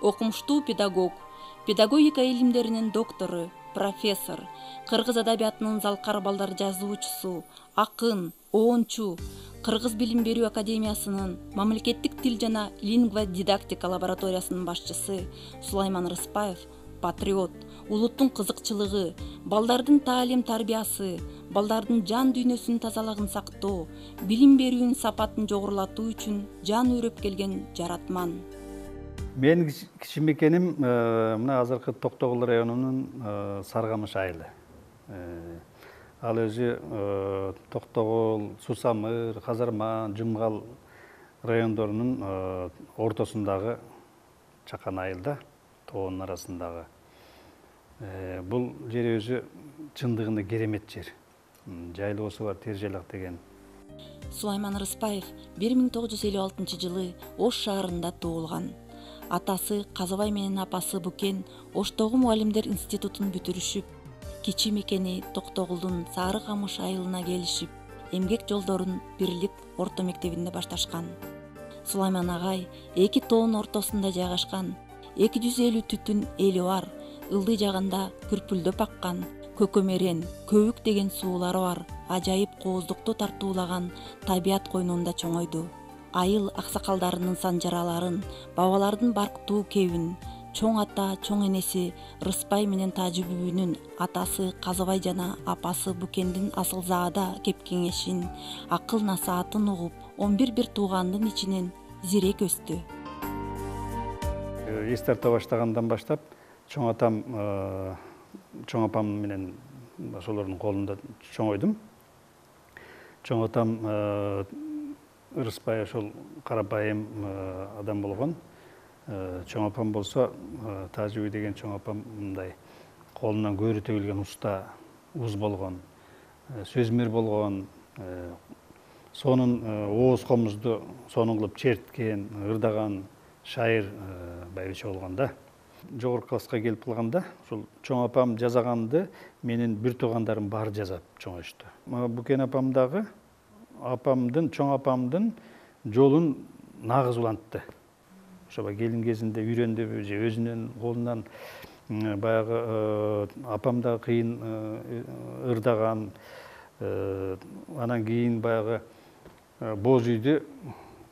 окумуштуу педагог, педагогика илимдеринин доктору, профессор, кыргыз адабиятынын залкар балдар жазуучусу, акын, оончу, Кыргыз билим берүү академиясынын мамлекеттик тил жана лингва дидактика лабораториясынын башчысы Сулайман Рыспаев патриот, улуттун кызыкчылыгы, балдардын таалим тарбиясы, балдардын жан дүйнөсүнүн тазалыгын сактоо, билим берүүнүн сапатын жогорулатуу үчүн жан үйрөп келген жаратман. Менин кичимекеним мына азыркы Токтогул районунун Саргамыш айылы. Ал өзү Токтогул, Сусамыр, Казарман, Жумгал райондорунун ортосундагы чакан айылда, тоонун арасындагы. Бул жер өзү чындыгында керемет жер. Жайлоосу бар, тер жайлак деген. Сулайман Рыспаев 1956-жылы Ош шаарында туулган. Атасы Казабай менен апасы Букен Оштогу мугалимдер институтун бүтүрүшүп, кичи мекени Токтогулдун Сары Камыш айылына келишип, эмгек жолдорун Бирлик орто мектебинде башташкан. Сулайман агай эки тоонун ортосунда жайгашкан, 250 түтүн эли бар, ылдый жагында күрпүлдөп аккан, көкөмерен, көбүк деген суулары бар, ажайып кооздукту тартуулаган табият койнунда чоңойду. Айыл аксакалдарынын санжараларын, бабалардын барктуу кебин, чоң ата, чоң энеси Рыспай менен Тажы бүбүнүн атасы Казабай жана апасы Букендин асылзаада кеп кеңешин, акыл насаатын угуп, 11 бир туугандын ичинен зирек өстү. Эс тарта баштагандан баштап чоң апам менен ошолордун колунда чоңойдум. Чоң атам Рыспай ошол карапайым адам болгон. Чоң апам болсо Тажыбүй деген чоң апам мындай колунан көөрү төгүлгөн уста уз болгон, сөзмөр болгон, сонун ооз комузду сонун кылып черткен, ырдаган шайыр байбиче болгон да. Жогорку класска келип калганда ушул чоң апам жазаганды менин бир туугандарым баары жазап чоңоyушту. Букен апам дагы чоң апамдын жолун нагыз улантты. Ошо келин кезинде үйрөндүбү же өзүнүн колунан баягы апам да кыйын ырдаган, анан кийин баягы боз үйдү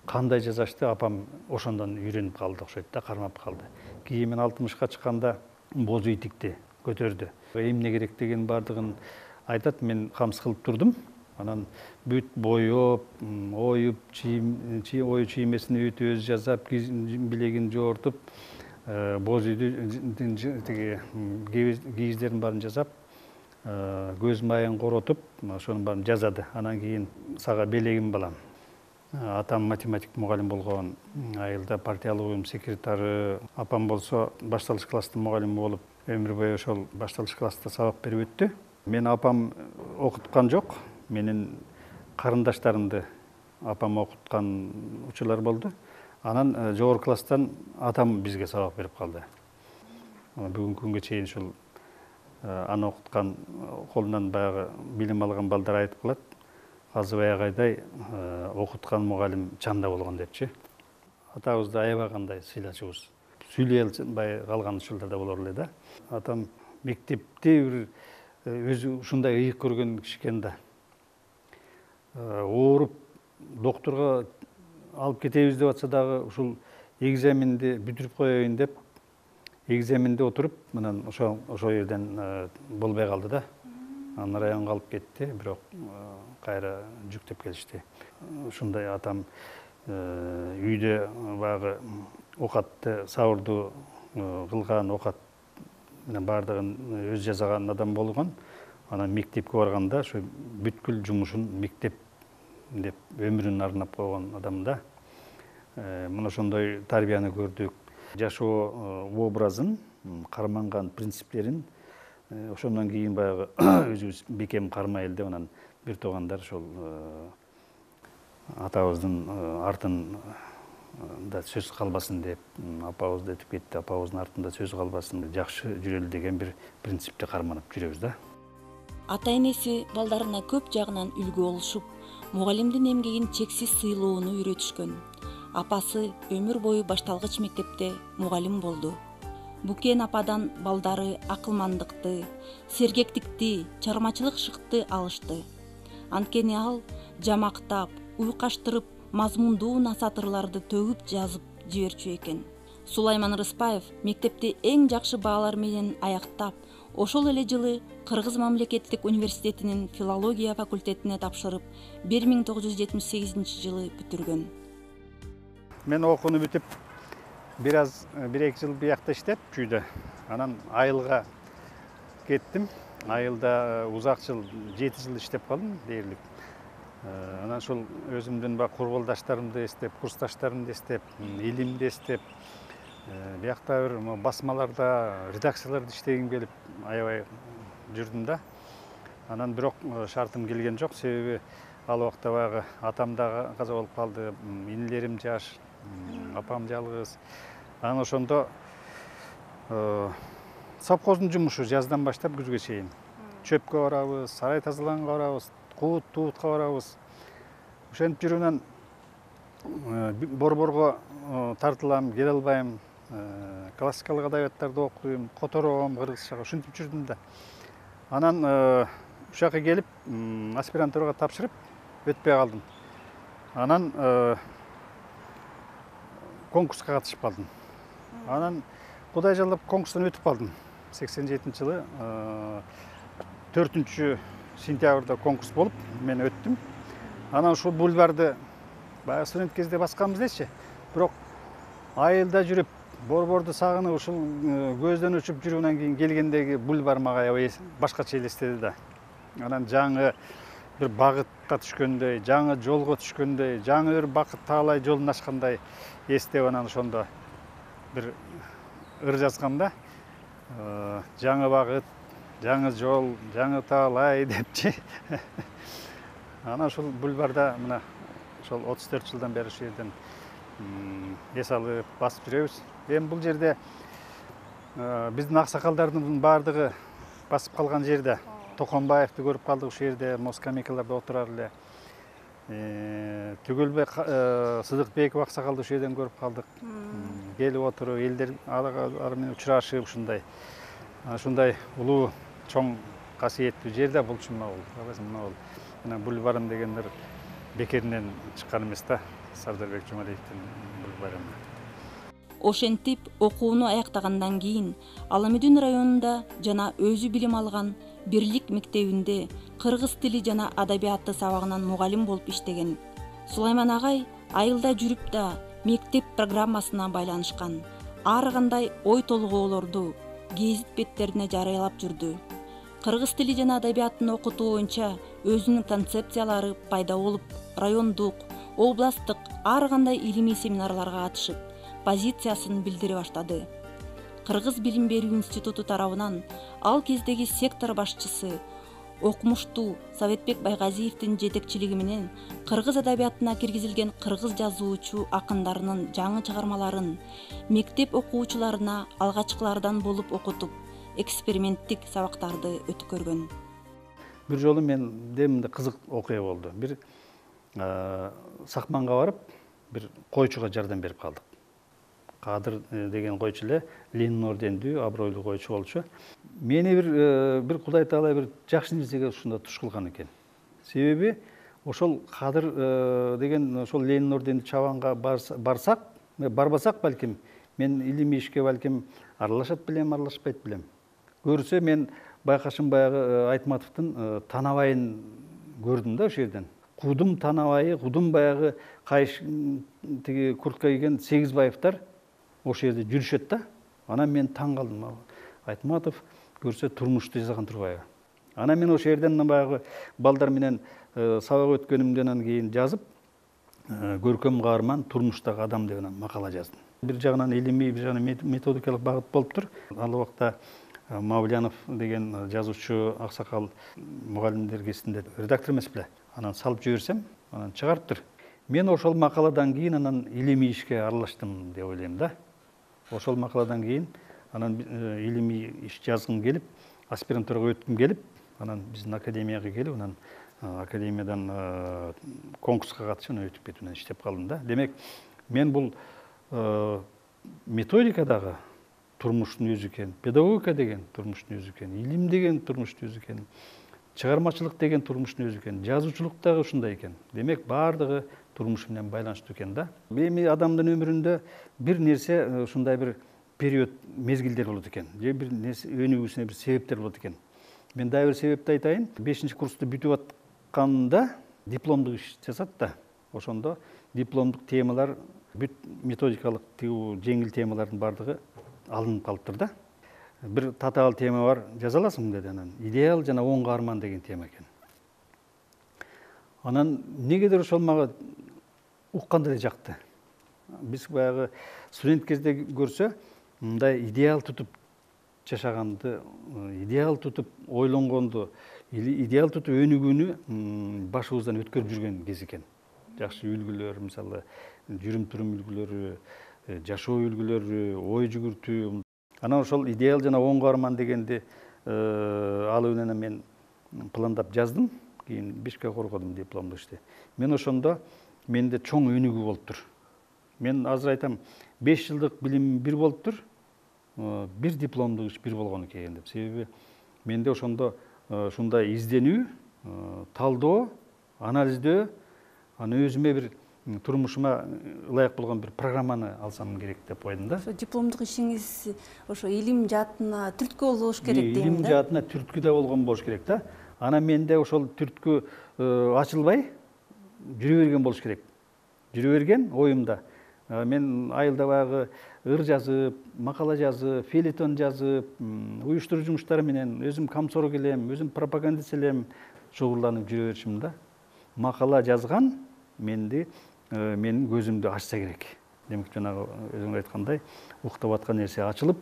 кандай жасашты апам ошондон үйрөнүп калды окшойт да, кармап калды. Кийин мен 60-ка чыкканда боз үй тикти, көтөрдү. Эмне керек деген бардыгын айтат, мен камсыз кылып турдум. Анан бүт боёп, оюп, ою чиймесин өтө өз жасап, билегин жоортуп, боз үйдүн тиги кийиздерин баарын жасап, көз майын коротуп, ошонун баарын жазады. Анан кийин сага белегим балам. Атам математик мугалим болгон, айылда партиялык уюм секретары. Апам болсо башталыш класстын мугалими болуп, өмүр бою ошол башталыш класста сабак берип өттү. Мен апам окуткан жок. Менин карындаштарымды апам окуткан учурлар болду. Анан жогорку класстан атам бизге сабак берип калды. Бүгүнкү күнгө чейин ушул аны окуткан, колунан баягы билим алган балдар айтып калат. Казыбай агайдай окуткан мугалим чанда болгон депчи. Атабызды аябагандай сыйлачубуз. Сүйлөй албай калган учурлар да болор эле да. Атам мектепти бир өзү ушундай ыйык көргөн киши экен да. Ооруп доктурга алып кетебиз деп атса дагы ушул экзаменди бүтүрүп коеюн деп экзаменде отуруп, анан ошол жерден болбой калды да. Анан районго алып кетти, бирок кайра жүктөп келишти. Ушундай атам үйдө баягы окатты сабырдуу кылган, окат менен баардыгын өз жасаган адам болгон. Анан мектепке барганда ошо бүткүл жумушун мектеп деп өмүрүн арнап койгон адам да. Мына ошондой тарбияны көрдүк. Жашоо образын, карманган принциптерин ошондон кийин баягы өзүбүз бекем кармайлы деп анан бир туугандар ошол атабыздын артын да сөз калбасын деп, апабыз да өтүп кетти, апабыздын артында сөз калбасын, жакшы жүрөлү деген бир принципти карманып жүрөбүз да. Ата энеси балдарына көп жагынан үлгү болушуп, мугалимдин эмгегин чексиз сыйлоону үйрөтүшкөн. апасы өмүр бою башталгыч мектепте мугалим болду. Букен ападан балдары акылмандыкты, сергектикти, чыгармачылык шыкты алышты. Анткени ал жамактап, уйкаштырып, мазмундуу насатырларды төгүп жазып жиберчү экен. Сулайман Рыспаев мектепти эң жакшы баалар менен аяктап, ошол эле жылы Кыргыз мамлекеттик университетинин филология факультетине тапшырып, 1978 жылы бүтүргөн. Мен окууну бүтүп, бир-эки жыл биякта иштеп чүйдө. Анан айылга кеттим. Айылда узак жыл, 7 жыл иштеп калдым дээрлик. Анан ошол өзүмдүн курбалдаштарымды эстеп, курсташтарымды эстеп, илимди эстеп, биякта бир басмаларда, редакцияларда иштегим келип аябай жүрдүм да. Анан бирок шартым келген жок, себеби ал убакта баягы атам да каза болуп калды, инилерим жаш, апам жалгыз. Анан ошондо совхоздун жумушу жаздан баштап күзгө чейин. Чөпкө барабыз, сарай тазаланга барабыз, туутка барабыз. Ошентип жүрүп борборго тартылам, келе албайм. Классикалык адабияттарды окуйм, котором кыргызчага, ушинтип жүрдүм да. Анан ушул жака келип, аспирантурага тапшырып, өтпөй калдым. Анан конкурска катышып калдым. Анан Кудай жалдап конкурстан өтүп калдым. 87 жылы 4 сентябрда конкурс болуп, мен өттүм. Анан ушул бульварды баягы студент кезде басканбыз дечи. Бирок айылда жүрүп, борборду сагынып, ушул көздөн учуп жүрүүнөн кийин келгендеги бульвар мага аябай башкача элестеди да. Анан жаңы бир багытка түшкөндөй, жаңы жолго түшкөндөй, жаңы бир бакыт таалай жолун ачкандай эстеп, анан ошондо бир ыр жазгам да. Жаңы багыт, жаңы жол, жаңы таалай депчи. Анан ушул бульварда мына ошол 34 жылдан бери ушул жерден эс алып басып жүрөбүз. Эми бул жерде биздин аксакалдардын баардыгы басып калган жерде. Токонбаевди көрүп калдык ушул жерде, скамейкаларда отурар эле. Түгөлбек Сыдыкбеков аксакалды ушул жерден көрүп калдык. Келип отуруп, элдер ары менен учурашып ушундай. Ушундай улуу, чоң касиеттүү жерде булчу мына бул. Мына бульварым деген бир бекеринен чыккан эмес да, Сардарбек Жумалиевдин бульвары. Ошентип окууну аяктагандан кийин Аламүдүн районунда жана өзү билим алган Бирлик мектебинде кыргыз тили жана адабияты сабагынан мугалим болуп иштеген. Сулайман агай айылда жүрүп да мектеп программасына байланышкан. Ар кандай ой толгоолорду гезит беттерине жарыялап жүрдү. Кыргыз тили жана адабиятын окутуу боюнча өзүнүн концепциялары пайда болуп, райондук, областтык ар кандай илимий семинарларга катышып, позициясын билдире баштады. Кыргыз билим берүү институту тарабынан ал кездеги сектор башчысы окумуштуу Советбек Байгазиевдин жетекчилиги менен кыргыз адабиятына киргизилген кыргыз жазуучу акындарынын жаңы чыгармаларын мектеп окуучуларына алгачкылардан болуп окутуп, эксперименттик сабактарды өткөргөн. Бир жолу менде мындай кызык окуя болду. Бир сакманга барып, бир койчуга жардам берип калдык. Кадыр деген койчу эле, Ленин ордендүү, абройлуу койчу болчу. Мени бир Кудай таалай бир жакшы нерсеге ушунда туш кылган экен. Себеби ошол Кадыр деген ошол Ленин ордендүү чабанга барбасак балким, мен илимий ишке балким аралашат белем, аралашпайт белем. Көрсө мен байкашым баягы Айтматовдун Танабайын көрдүм да ошол жерден. Кудум Танабайы, кудум баягы кайыш тиги куртка кийген Сегизбаевдар ошол жерде жүрүшөт да. Анан мен таң калдым. Айтматов көрсө турмушту жазган турбайбы. Анан мен ошол жерден баягы балдар менен сабак өткөнүмдөн кийин жазып, көркөм каарман турмуштагы адам деп макала жаздым. Бир жагынан илимий, бир жагынан методикалык багыт болуптур. Ал убакта Мавлянов деген жазуучу аксакал мугалимдер кезинде редактор эмес беле. Анан салып жиберсем, анан чыгарыптыр. Мен ошол макаладан кийин анан илимий ишке аралаштым деп ойлойм да. Ошол макаладан кийин анан илимий иш жазгым келип, аспирантурага өткүм келип, анан биздин академияга келип, анан академиядан конкурска катышып, өтүп кетип иштеп калдым да. Демек, Мен бул методика дагы турмуштун өзү экен, педагогика деген турмуштун өзү экен, илим деген турмуштун өзү экен, чыгармачылык деген турмуштун өзү экен, жазуучулук дагы ушундай экен. Демек баардыгы турмуш менен байланыштуу экен да. Эми адамдын өмүрүндө бир нерсе ушундай бир период, мезгилдер болот экен. Же бир нерсе өнүгүүсүнө бир себептер болот экен. Мен дагы бир себепти айтайын. 5-курсту бүтүп атканда дипломдук иш жасат да. Ошондо дипломдук темалар бүт методикалык жеңил темалардын баардыгы алынып калыптыр да. Бир татаал тема бар, жаза аласың деди анан. Идеал жана оң каарман деген тема экен. Анан негедир ошол мага укканда эле жакты. Биз баягы студент кезде көрсө, мындай идеал тутуп жашаганды, идеал тутуп ойлонгонду, идеал тутуп өнүгүүнү башыбыздан өткөрүп жүргөн кез экен. Жакшы үлгүлөр, мисалы, жүрүм-турум үлгүлөрү, жашоо үлгүлөрү, ой жүгүртүү. Анан ошол идеал жана оң каарман дегенди алып менен мен пландап жаздым. Кийин 5 коргодум дипломдук ишти. Мен ошондо менде чоң өнүгүү болуптур. Мен азыр айтам, 5 жылдык билим бир болуптур, бир дипломдук иш бир болгон экен деп. Себеби менде ошондо ушундай изденүү, талдоо, анализдөө, аны өзүмө бир турмушума ылайык болгон бир программаны алсам керек деп койдум да. Ошо дипломдук ишиңиз ошо илим жаатына түрткү болуш керек дейм да. Илим жаатына түрткү да болгон болуш керек да. Анан менде ошол түрткү ачылбай жүрө берген болуш керек. Жүрө берген оюмда. Мен айылда баягы ыр жазып, макала жазып, фейлетон жазып, уюштуруу жумуштары менен өзүм комсорг элем, өзүм пропагандист элем, шугулданып жүрө беришим да. Макала жазган менин көзүмдү ачса керек. Демек жанагы өзүң айткандай, уктап аткан нерсе ачылып,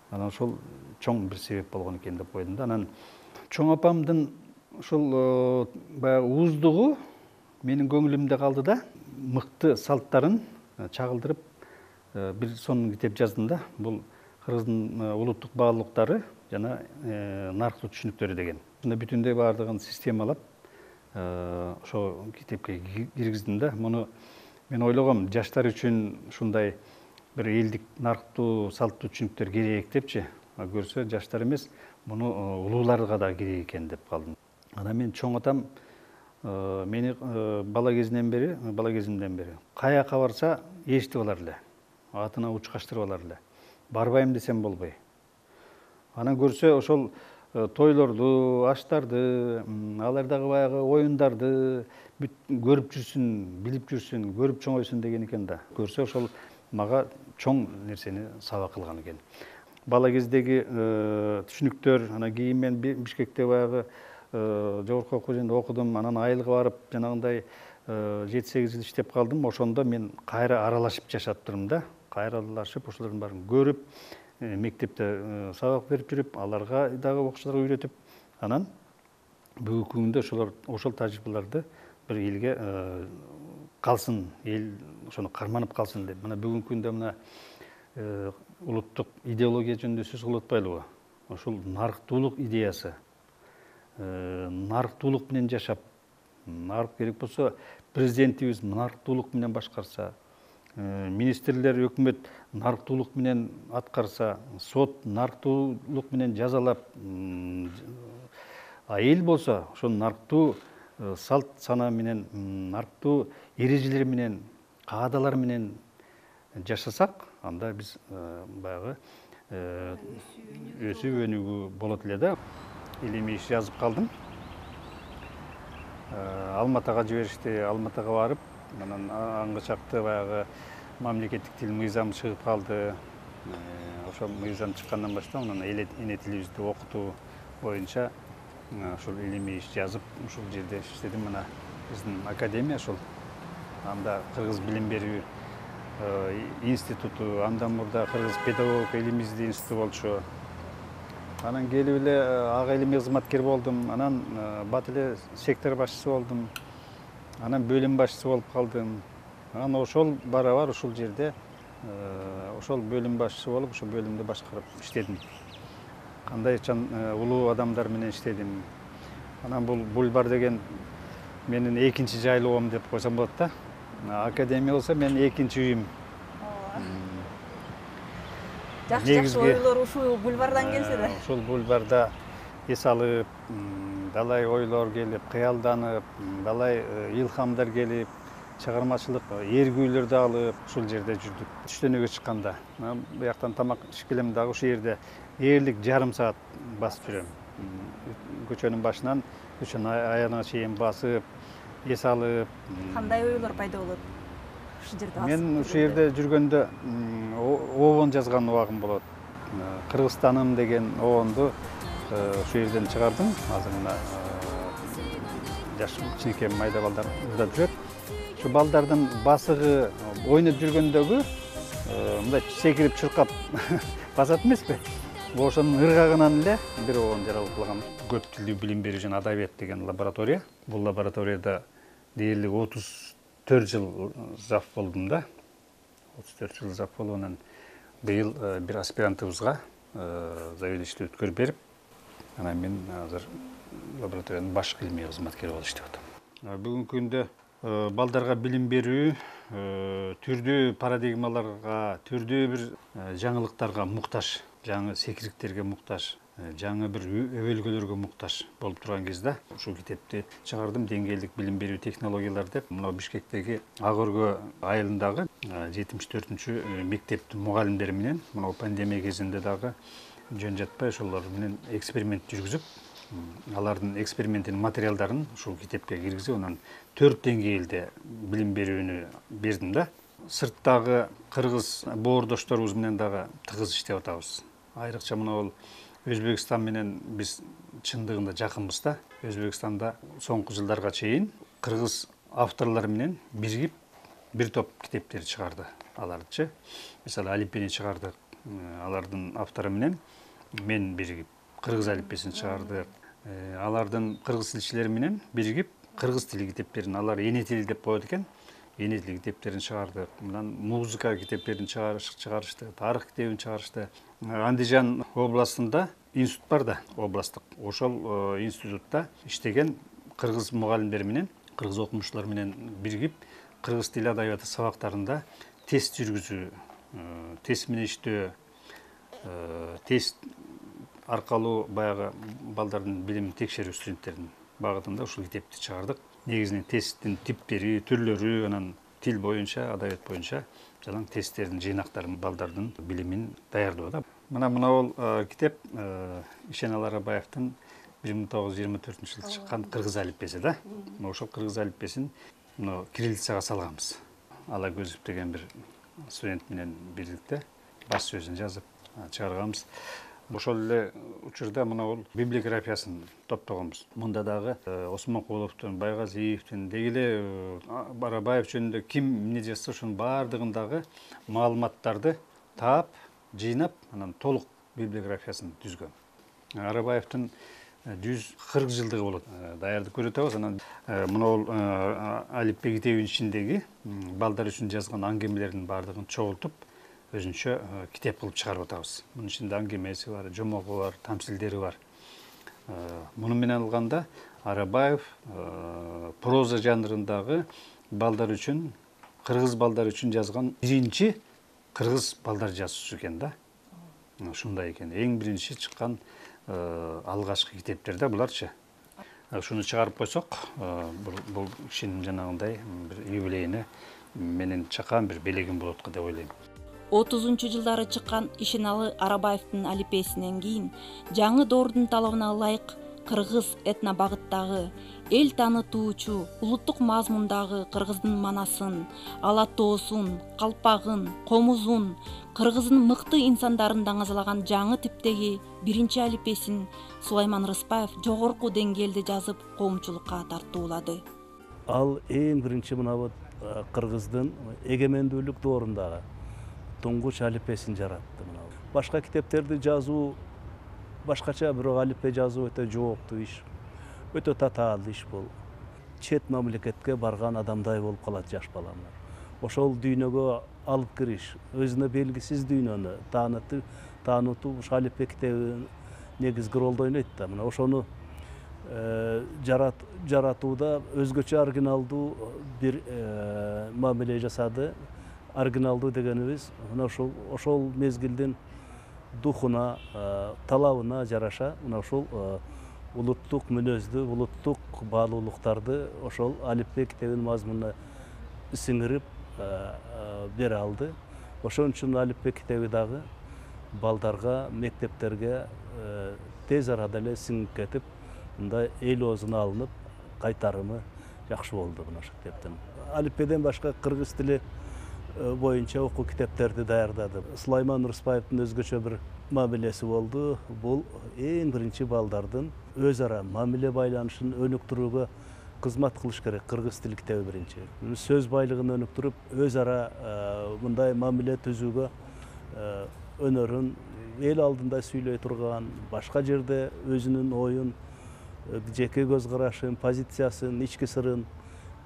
анан ошол чоң бир себеп болгон экен деп койдум да. Анан чоң апамдын ошол баягы ууздугу менин көңүлүмдө калды да. Мыкты салттарын чагылдырып бир сонун китеп жаздым да. Бул кыргыздын улуттук баалуулуктары жана нарыктуу түшүнүктөрү деген. Мына бүтүндөй баардыгын системалап ошо китепке киргиздим да. Муну мен ойлогом, жаштар үчүн ушундай бир элдик нарыктуу салттуу түшүнүктөр керек депчи. Көрсө жаштар эмес, муну улууларга да керек экен деп калдым. Анан мен чоң атам мени бала кезимден бери каяка барса ээрчитип алар эле. Атына учкаштырып алар эле. Барбайм десем болбой. Анан көрсө ошол тойлорду, аштарды, алардагы баягы оюндарды көрүп жүрсүн, билип жүрсүн, көрүп чоңойсун деген экен да. Көрсө ошол мага чоң нерсени сабак кылган экен. Бала кездеги түшүнүктөр, анан кийин мен Бишкекте баягы жогорку окуу жеринде окудум, анан айылга барып жанагындай 7-8 жыл иштеп калдым. Ошондо мен кайра аралашып жашаптырмын да. Кайра аралашып, ошолордун баарын көрүп, мектепте сабак берип жүрүп, аларга дагы окуучуларга үйрөтүп, анан бүгүнкү күндө ошол тажрыйбаларды бир элге калсын, эл ошону карманып калсын деп. Мына бүгүнкү күндө мына улуттук идеология жөнүндө сөз кылып атпайлыбы? Ошол нарыктуулук идеясы, нарыктуулук менен жашап, нарык керек болсо президентибиз нарыктуулук менен башкарса, министрлер, өкмөт нарыктуулук менен аткарса, сот нарыктуулук менен жазалап, эл болсо ошол нарыктуу салт сана менен, нарыктуу эрежелер менен, каадалар менен жашасак, анда биз баягы өсүп өнүгүү болот эле да. Илимий иш жазып калдым. Алматыга жиберишти, Алматыга барып, анан аңгы чакты баягы мамлекеттик тил мыйзам чыгып калды. Ошол мыйзам чыккандан баштап анан эне тилибизди окутуу боюнча ошол илимий иш жазып, ушул жерде иштедим. Мына биздин академия ошол. Анда кыргыз билим берүү институту, андан мурда кыргыз педагогика илим издөө институту болчу. Анан келип эле ага илимий кызматкер болдум. Анан бат эле сектор башчысы болдум. Анан бөлүм башчысы болуп калдым. Анан ошол бара-бар ушул жерде ошол бөлүм башчысы болуп, ошол бөлүмдү башкарып иштедим. Кандай улуу адамдар менен иштедим. Анан бул Бульбар деген менин экинчи жайлоом деп койсом болот да. Академия болсо менин экинчи үйүм. Жакшы жакшы ойлор ушул бульвардан келсе да. Ушул бульварда эс алып, далай ойлор келип, кыялданып, далай илхамдар келип, чыгармачылык эргүүлөрдү алып ушул жерде жүрдүк. Түштөнүүгө чыкканда, бияктан тамак ичип келем дагы ушул жерде ээрлик жарым саат басып жүрөм. Көчөнүн башынан көчөнүн аягына чейин басып, эс алып. Кандай ойлор пайда болот? Ушул жерде басып. Мен ушул жерде жүргөндө обон жазган убагым болот. Кыргызстаным деген обонду ушул жерден чыгардым. Азыр мына жаш кичинекей майда балдар уздап жүрөт. Ушу балдардын басыгы ойноп жүргөндөгү мындай секирип чуркап басат эмеспи? Ошонун ыргагынан эле бир обон жаралып калган. Көп тилдүү билим берүү жана адабият деген лаборатория. Бул лабораторияда дээрлик 34 жыл зав болдум да. 34 жыл зав болуп, анан быйыл бир аспирантыбызга заведующий өткөрүп берип, анан мен азыр лабораториянын башкы илимий кызматкери болуп иштеп атам. Бүгүнкү күндө балдарга билим берүү түрдүү парадигмаларга, түрдүү бир жаңылыктарга муктаж, жаңы секириктерге муктаж, жаңы бир өбөлгөлөргө муктаж болуп турган кезде ушул китепти чыгардым. Деңгээлдик билим берүү технологиялары деп, мына Бишкектеги Ак Өргө айылындагы 74-чү мектептин мугалимдери менен мына пандемия кезинде дагы жөн жатпай ошолор менен эксперимент жүргүзүп, алардын экспериментинин материалдарын ушул китепке киргизип, анан 4 деңгээлде билим берүүнү бердим да. Сырттагы кыргыз боордошторубуз менен дагы тыгыз иштеп атабыз. Айрыкча мына бул Өзбекстан менен биз чындыгында жакынбыз да. Өзбекстанда соңку жылдарга чейин кыргыз авторлор менен биригип бир топ китептер чыгарды алардычы. Мисалы алиппени чыгардык, алардын автору менен мен биригип кыргыз алиппесин чыгардык. Алардын кыргыз тилчилери менен биригип кыргыз тили китептерин, алар эне тили деп коет экен, эне тили китептерин чыгардык. Мындан музыка китептерин чыгарышты, тарых китебин чыгарышты. Андижан областында институт бар да, областтык. Ошол институтта иштеген кыргыз мугалимдер менен, кыргыз окумуштуулар менен биригип кыргыз тили адабияты сабактарында тест жүргүзүү, тест менен иштөө, тест аркылуу баягы балдардын билимин текшерүү, студенттердин багытында ушул китепти чыгардык. Негизинен тесттин типтери, түрлөрү, анан тил боюнча, адабият боюнча жалаң тесттердин жыйнактарын, балдардын билимин даярдоо да. Мына бул китеп Ишеналы Арабаевдин 1924-жылы чыккан кыргыз алиппеси да. Ошол кыргыз алиппесин кириллицага салганбыз. Алагөзов деген бир студент менен бирдикте баш сөзүн жазып чыгарганбыз. Ошол эле учурда мына бул библиографиясын топтогонбуз. Мында дагы Осмонкуловдун, Байгазиевдин, деги эле Арабаев жөнүндө ким эмне жазса ошонун баардыгындагы маалыматтарды таап, жыйнап, анан толук библиографиясын түзгөн. Арабаевдин 140 жылдыгы болот. Даярдык көрүп атабыз. Анан мына бул алиппе китебинин ичиндеги балдар үчүн жазган аңгемелердин баардыгын чогултуп, өзүнчө китеп кылып чыгарып атабыз. Мунун ичинде аңгемеси бар, жомогу бар, тамсилдери бар. Муну менен алганда Арабаев проза жанрындагы балдар үчүн, кыргыз балдар үчүн жазган биринчи кыргыз балдар жазуучусу экен да. Ушундай экен. Эң биринчи чыккан алгачкы китептер да буларчы. Ушуну чыгарып койсок, бул кишинин жанагындай бир юбилейине менин чакан бир белегим болот деп ойлойм. 30-жылдары чыккан Ишеналы Арабаевдин алиппесинен кийин жаңы доордун талабына ылайык кыргыз этнобагыттагы эл таанытуучу, улуттук мазмундагы кыргыздын манасын, алатоосун, калпагын, комузун, кыргыздын мыкты инсандарын даңазалаган жаңы типтеги биринчи алиппесин Сулайман Рыспаев жогорку деңгээлде жазып, коомчулукка тартуулады. Ал эң биринчи мына кыргыздын эгемендүүлүк доорундагы туңгуч алиппесин жаратты. Башка китептерди жазуу башкача, бирок алиппе жазуу өтө жооптуу иш, өтө татаалдуу иш бул. Чет мамлекетке барган адамдай болуп калат жаш баламдар. Ошол дүйнөгө алып кириш, өзүнө белгисиз дүйнөнү таанытуу ушу алиппе китеби негизги ролду ойнойт да. Мына ошону жаратууда өзгөчө оригиналдуу бир мамиле жасады. Оригиналдуу дегенибиз мына ошол мезгилдин духуна, талабына жараша мына ушул улуттук мүнөздү, улуттук баалуулуктарды ошол алипбе китебинин мазмунуна сиңирип бере алды. Ошон үчүн алипбе китеби дагы балдарга, мектептерге тез арада эле сиңип кетип, мындай эл оозуна алынып, кайтарымы жакшы болду мына ошол китептин. Алипбеден башка кыргыз тили боюнча окуу китептерди даярдадым. Сулайман Рыспаевдин өзгөчө бир мамилеси болду. Бул эң биринчи балдардын өз ара мамиле байланышын өнүктүрүүгө кызмат кылыш керек. Кыргыз тил китеби биринчи. Сөз байлыгын өнүктүрүп, өз ара мындай мамиле түзүүгө өнөрүн эл алдында сүйлөй турган, башка жерде өзүнүн оюн, жеке көз карашын, позициясын, ички сырын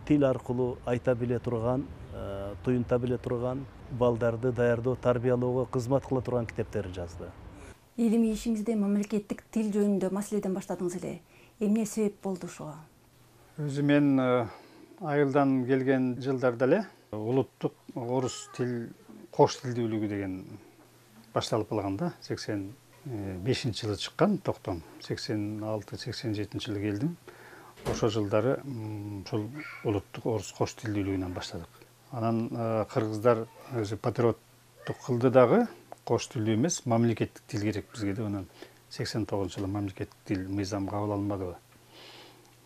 тил аркылуу айта биле турган, туюнта биле турган балдарды даярдоо, тарбиялоого кызмат кыла турган китептерин жазды. Илимий ишиңизде мамлекеттик тил жөнүндө маселеден баштадыңыз эле. Эмне себеп болду ошого? Өзү мен айылдан келген жылдарда эле улуттук орус тил кош тилдүүлүгү деген башталып калган да. 85-жылы чыккан токтом. 86-87 жылы келдим. Ошол жылдары ушул улуттук орус кош тилдүүлүгүнөн баштадык. Анан кыргыздар өзү патриоттук кылды дагы, кош тилдүү эмес, мамлекеттик тил керек бизге деп. Анан 89-жылы мамлекеттик тил мыйзам кабыл алынбадыбы.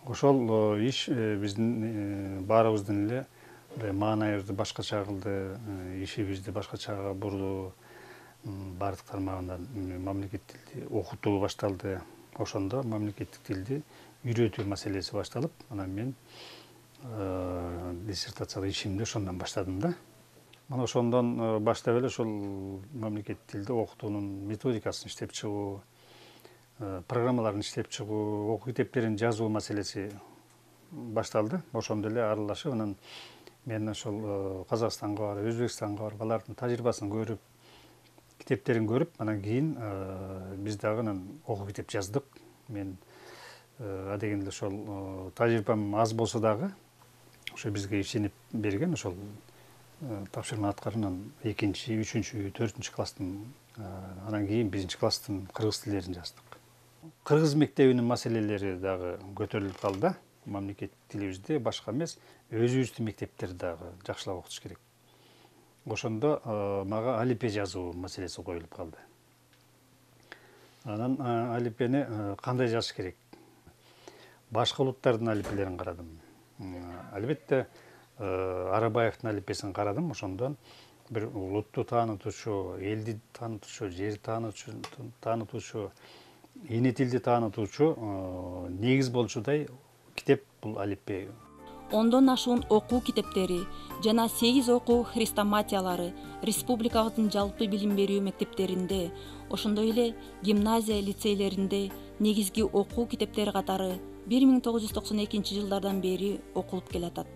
Ошол иш биздин баарыбыздын эле маанайыбызды башкача кылды, ишибизди башкачага бурду. Бардык тармагынан мамлекеттик тилди окутуу башталды. Ошондо мамлекеттик тилди үйрөтүү маселеси башталып, анан мен диссертациялык ишимди ошондон баштадым да. Мына ошондон баштап эле ошол мамлекеттик тилди окутуунун методикасын иштеп чыгуу, программаларын иштеп чыгуу, окуу китептерин жазуу маселеси башталды. Ошондо эле аралашып, анан мен ошол Казакстанга барып, Өзбекстанга барып, алардын тажрыйбасын көрүп, китептерин көрүп, анан кийин биз дагы анан окуу китеп жаздык. Мен адегенде ошол тажрыйбам аз болсо дагы ошо бизге ишенип берген ошол тапшырманы аткарып, 2-чи, 3-чү, 4-чү класстын, анан кийин 1-чи класстын кыргыз тилдерин жаздык. Кыргыз мектебинин маселелери дагы көтөрүлүп калды да. Мамлекеттик тилибизде башка эмес, өзүбүздүн мектептерди дагы жакшылап окутуш керек. Ошондо мага алипбе жазуу маселеси коюлуп калды. Анан алипбени кандай жазыш керек? Башка улуттардын алипбелерин карадым. Албетте Арабаевдин алипбесин карадым. Ошондон бир улутту таанытуучу, элди таанытуучу, жерди таанытуучу, эне тилди таанытуучу негиз болчудай китеп бул алипбе. 10дон ашуун окуу китептери жана 8 окуу хрестоматиялары республикабыздын жалпы билим берүү мектептеринде, ошондой эле гимназия лицейлеринде негизги окуу китептери катары 1992 жылдардан бери окулуп келатат.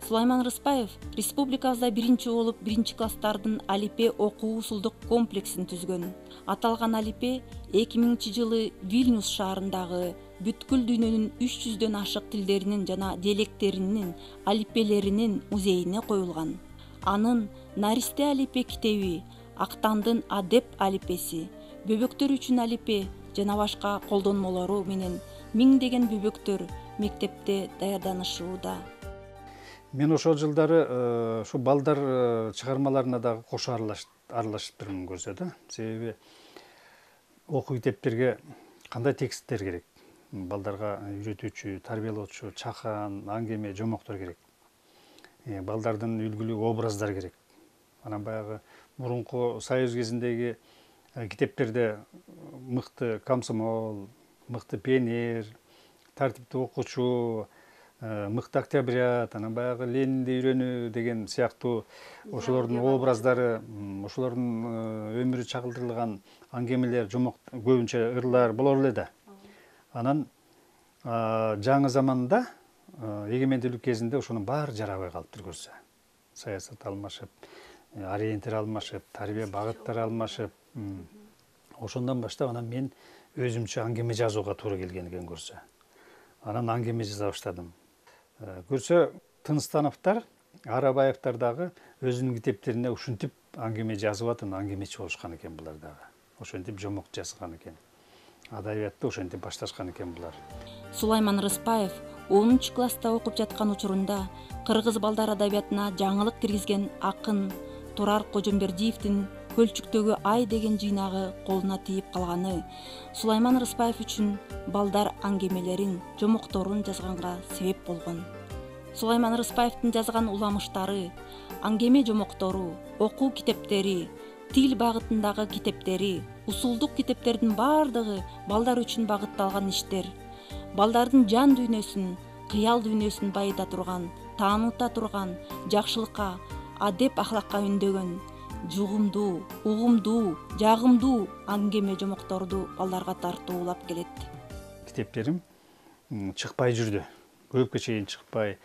Сулайман Рыспаев республикабызда биринчи болуп 1-чи класстардын алипбе окуу усулдук комплексин түзгөн. Аталган алипбе 2000 жылы Вильнюс шаарындагы бүткүл дүйнөнүн 300дөн ашык тилдеринин жана диалекттеринин алипбелеринин музейине коюлган. Анын Наристе алипбе китеби, Актандын адеп алипбеси, бөбөктөр үчүн алипбе жана башка колдонмолору менен миңдеген бөбөктөр мектепте даярданышууда. Мен ошол жылдары ушу балдар чыгармаларына дагы кошо аралашыптырмын көрсө да. Себеби окуу китептерге кандай тексттер керек? Балдарга үйрөтүүчү, тарбиялоочу, чакан, аңгеме, жомоктор керек. Балдардын үлгүлүү образдар керек. Анан баягы мурунку Союз кезиндеги китептерде мыкты комсомол, мыкты пионер, тартиптүү окуучу, мыкты октябрят, анан баягы Ленинди үйрөнүү деген сыяктуу ошолордун образдары, ошолордун өмүрү чагылдырылган аңгемелер, жомок, көбүнчө ырлар болор эле да. Анан жаңы заманда, эгемендүүлүк кезинде ошонун баары жарабай калыптыр көрсө. Саясат алмашып, ориентир алмашып, тарбия багыттары алмашып. Ошондон баштап анан мен өзүмчө аңгеме жазууга туура келген экен көрсө. Анан аңгеме жаза баштадым. Көрсө Тыныстановдор, Арабаевдер дагы өзүнүн китептерине ушинтип аңгеме жазып атып, аңгемечи болушкан экен булар дагы. Ошентип жомок жазган экен. Адабиятты ошентип башташкан экен булар. Сулайман Рыспаев 10 класста окуп жаткан учурунда кыргыз балдар адабиятына жаңылык киргизген акын Турар Кожомбердиевдин Көлчүктөгү ай деген жыйнагы колуна тийип калганы Сулайман Рыспаев үчүн балдар аңгемелерин, жомокторун жазганга себеп болгон. Сулайман Рыспаевдин жазган уламыштары, аңгеме жомоктору, окуу китептери, тил багытындагы китептери, усулдук китептердин баардыгы балдар үчүн багытталган иштер. Балдардын жан дүйнөсүн, кыял дүйнөсүн байыта турган, тааныта турган, жакшылыкка, адеп ахлакка үндөгөн, жугумдуу, угумдуу, жагымдуу аңгеме жомокторду балдарга тартуулап келет. Китептерим чыкпай жүрдү. Көпкө чейин чыкпай,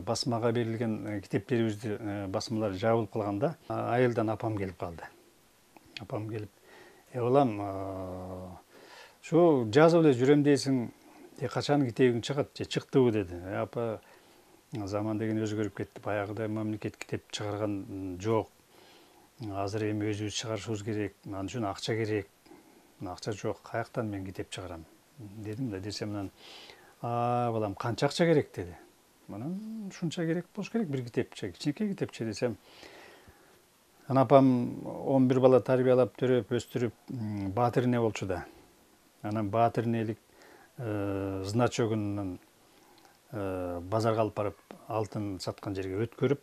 басмага берилген китептерибизди басмалар жабылып калганда, айылдан апам келип калды. Апам келип, балам, ушу жазып эле жүрөм дейсиң, качан китебиң чыгат же чыктыбы деди. Апа, заман деген өзгөрүп кетти. Баягыдай мамлекет китеп чыгарган жок. Азыр эми өзүбүз чыгарышыбыз керек. Ал үчүн акча керек. Акча жок. Каяктан мен китеп чыгарам? Дедим да, десем анан, балам, канча акча керек деди. Анан ушунча керек болуш керек бир китепче, кичинекей китепче десем. Анан апам 11 бала тарбиялап, төрөп, өстүрүп, баатыр эне болчу да. Анан баатыр энелик значогунан базарга алып барып, алтын саткан жерге өткөрүп,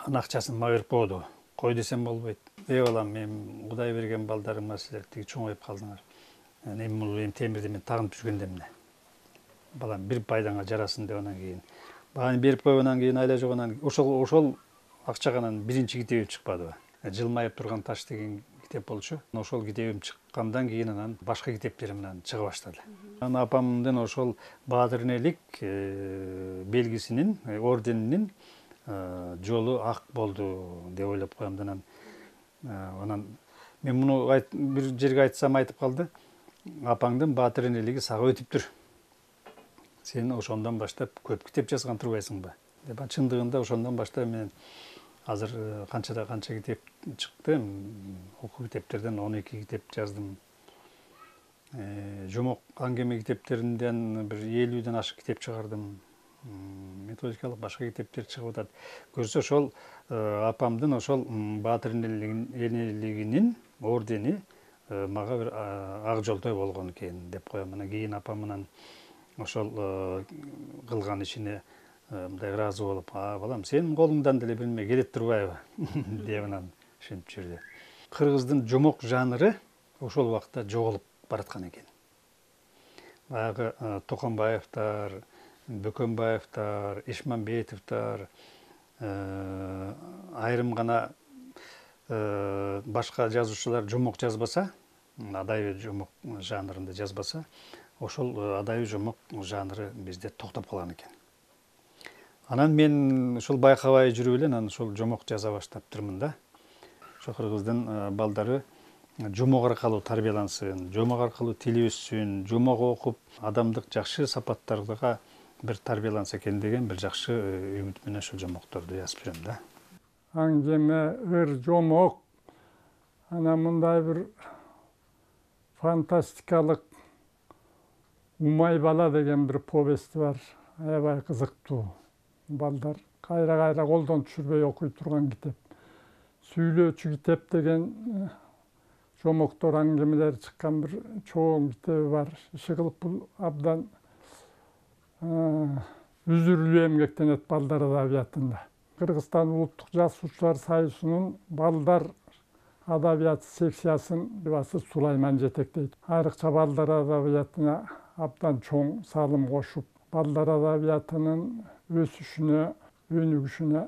анын акчасын мага берип койду. Кой десем болбойт. Балам, мен Кудай берген балдарыма силер тиги чоңоюп калдыңар. Эми бул темирди мен тагынып жүргөндө эмне? Балам, бир пайдаңа жарасын деп анан кийин. Бааны берип койгондон кийин айла жогонан ошол акчаганан биринчи китебим чыкпадыбы? Жылмайып турган таш деген китеп болчу. Ошол китебим чыккандан кийин анан башка китептерим менен чыга баштады. Анан апамдын ошол баатыр энелик белгисинин, орденинин жолу ак болду деп ойлоп коем да. Анан мен муну бир жерге айтсам айтып калды. Апаңдын баатыр энелиги сага өтүптүр. Сен ошондон баштап көп китеп жазган турбайсыңбы? Деп чындыгында ошондон баштап мен азыр канча китеп чыкты. Окуу китептерден 12 китеп жаздым. Жомок аңгеме китептеринден бир 50ден ашык китеп чыгардым. Методикалык башка китептер чыгып атат. Көрсө ошол апамдын ошол баатыр энелигинин ордени мага бир ак жолтой болгон экен деп коем. Анан кийин апам менен ошол кылган ишине мындай ыраазы болуп, балам, сенин колуңдан деле бир неме келет турбайбы деп анан ушинтип жүрдү. Кыргыздын жомок жанры ошол убакта жоголуп бараткан экен. Баягы Токонбаевдер, Бөкөнбаевдер, Ишмамбетовдер, айрым гана башка жазуучулар жомок жазбаса, адайы жомок жанрында жазбаса, ошол адайы жомок жанры бизде токтоп калган экен. Анан мен ушул байкабай жүрүп эле анан ушул жомок жаза баштаптырмын да. Ошо кыргыздын балдары жомок аркылуу тарбиялансын, жомок аркылуу тили өссүн, жомок окуп, адамдык жакшы сапаттарга бир тарбияланса экен деген бир жакшы үмүт менен ошол жомокторду жазып жүрөм да. Аңгеме, ыр, жомок, анан мындай бир фантастикалык Умай бала деген бир повести бар. Аябай кызыктуу. Балдар кайра колдон түшүрбөй окуй турган китеп. Сүйлөөчү китеп деген жомоктор аңгемелер чыккан бир чоң китеби бар. Иши кылып бул абдан үзүрлүү эмгектенет балдар адабиятында. Кыргызстан улуттук жазуучулар союзунун балдар адабияты секциясын басы Сулайман жетектейт. Айрыкча балдар адабиятына абдан чоң салым кошуп, балдар адабиятынын өсүшүнө, өнүгүшүнө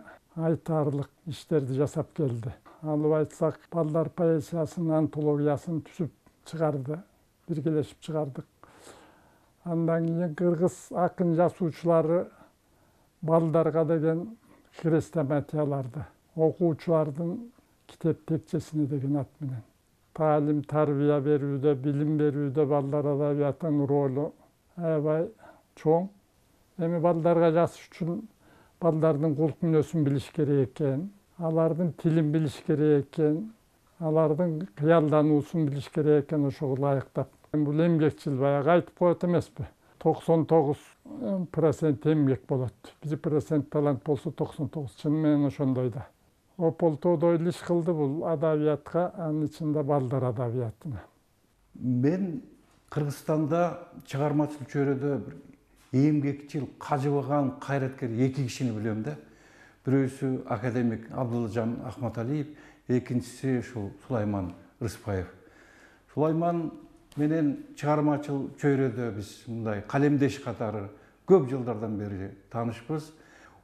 айтарлык иштерди жасап келди. Алып айтсак, балдар поэзиясынын антологиясын түзүп чыгарды, биргелешип чыгардык. Андан кийин кыргыз акын жазуучулары балдарга деген хрестоматияларды, окуучулардын китеп текчесине деген ат менен таалим, тарбия берүүдө, билим берүүдө балдар адабиятынын ролу аябай чоң. Эми балдарга жазыш үчүн балдардын кулк мүнөзүн билиш керек экен, алардын тилин билиш керек экен, алардын кыялдануусун билиш керек экен, ошого ылайыктап. Бул эмгекчил баягы айтып коет эмеспи? 99% эмгек болот. 1% талант болсо 99 чын менен ошондой да. Ополтоодой иш кылды бул адабиятка, анын ичинде балдар адабиятына. Мен Кыргызстанда чыгармачылык чөйрөдө бир эмгекчил, кажыбаган кайраткер эки кишини билем да. Бирөөсү академик Абдулжан Ахматалиев, экинчиси ушул Сулайман Рыспаев. Сулайман менен чыгармачыл чөйрөдө биз мындай калемдеш катары көп жылдардан бери таанышпыз.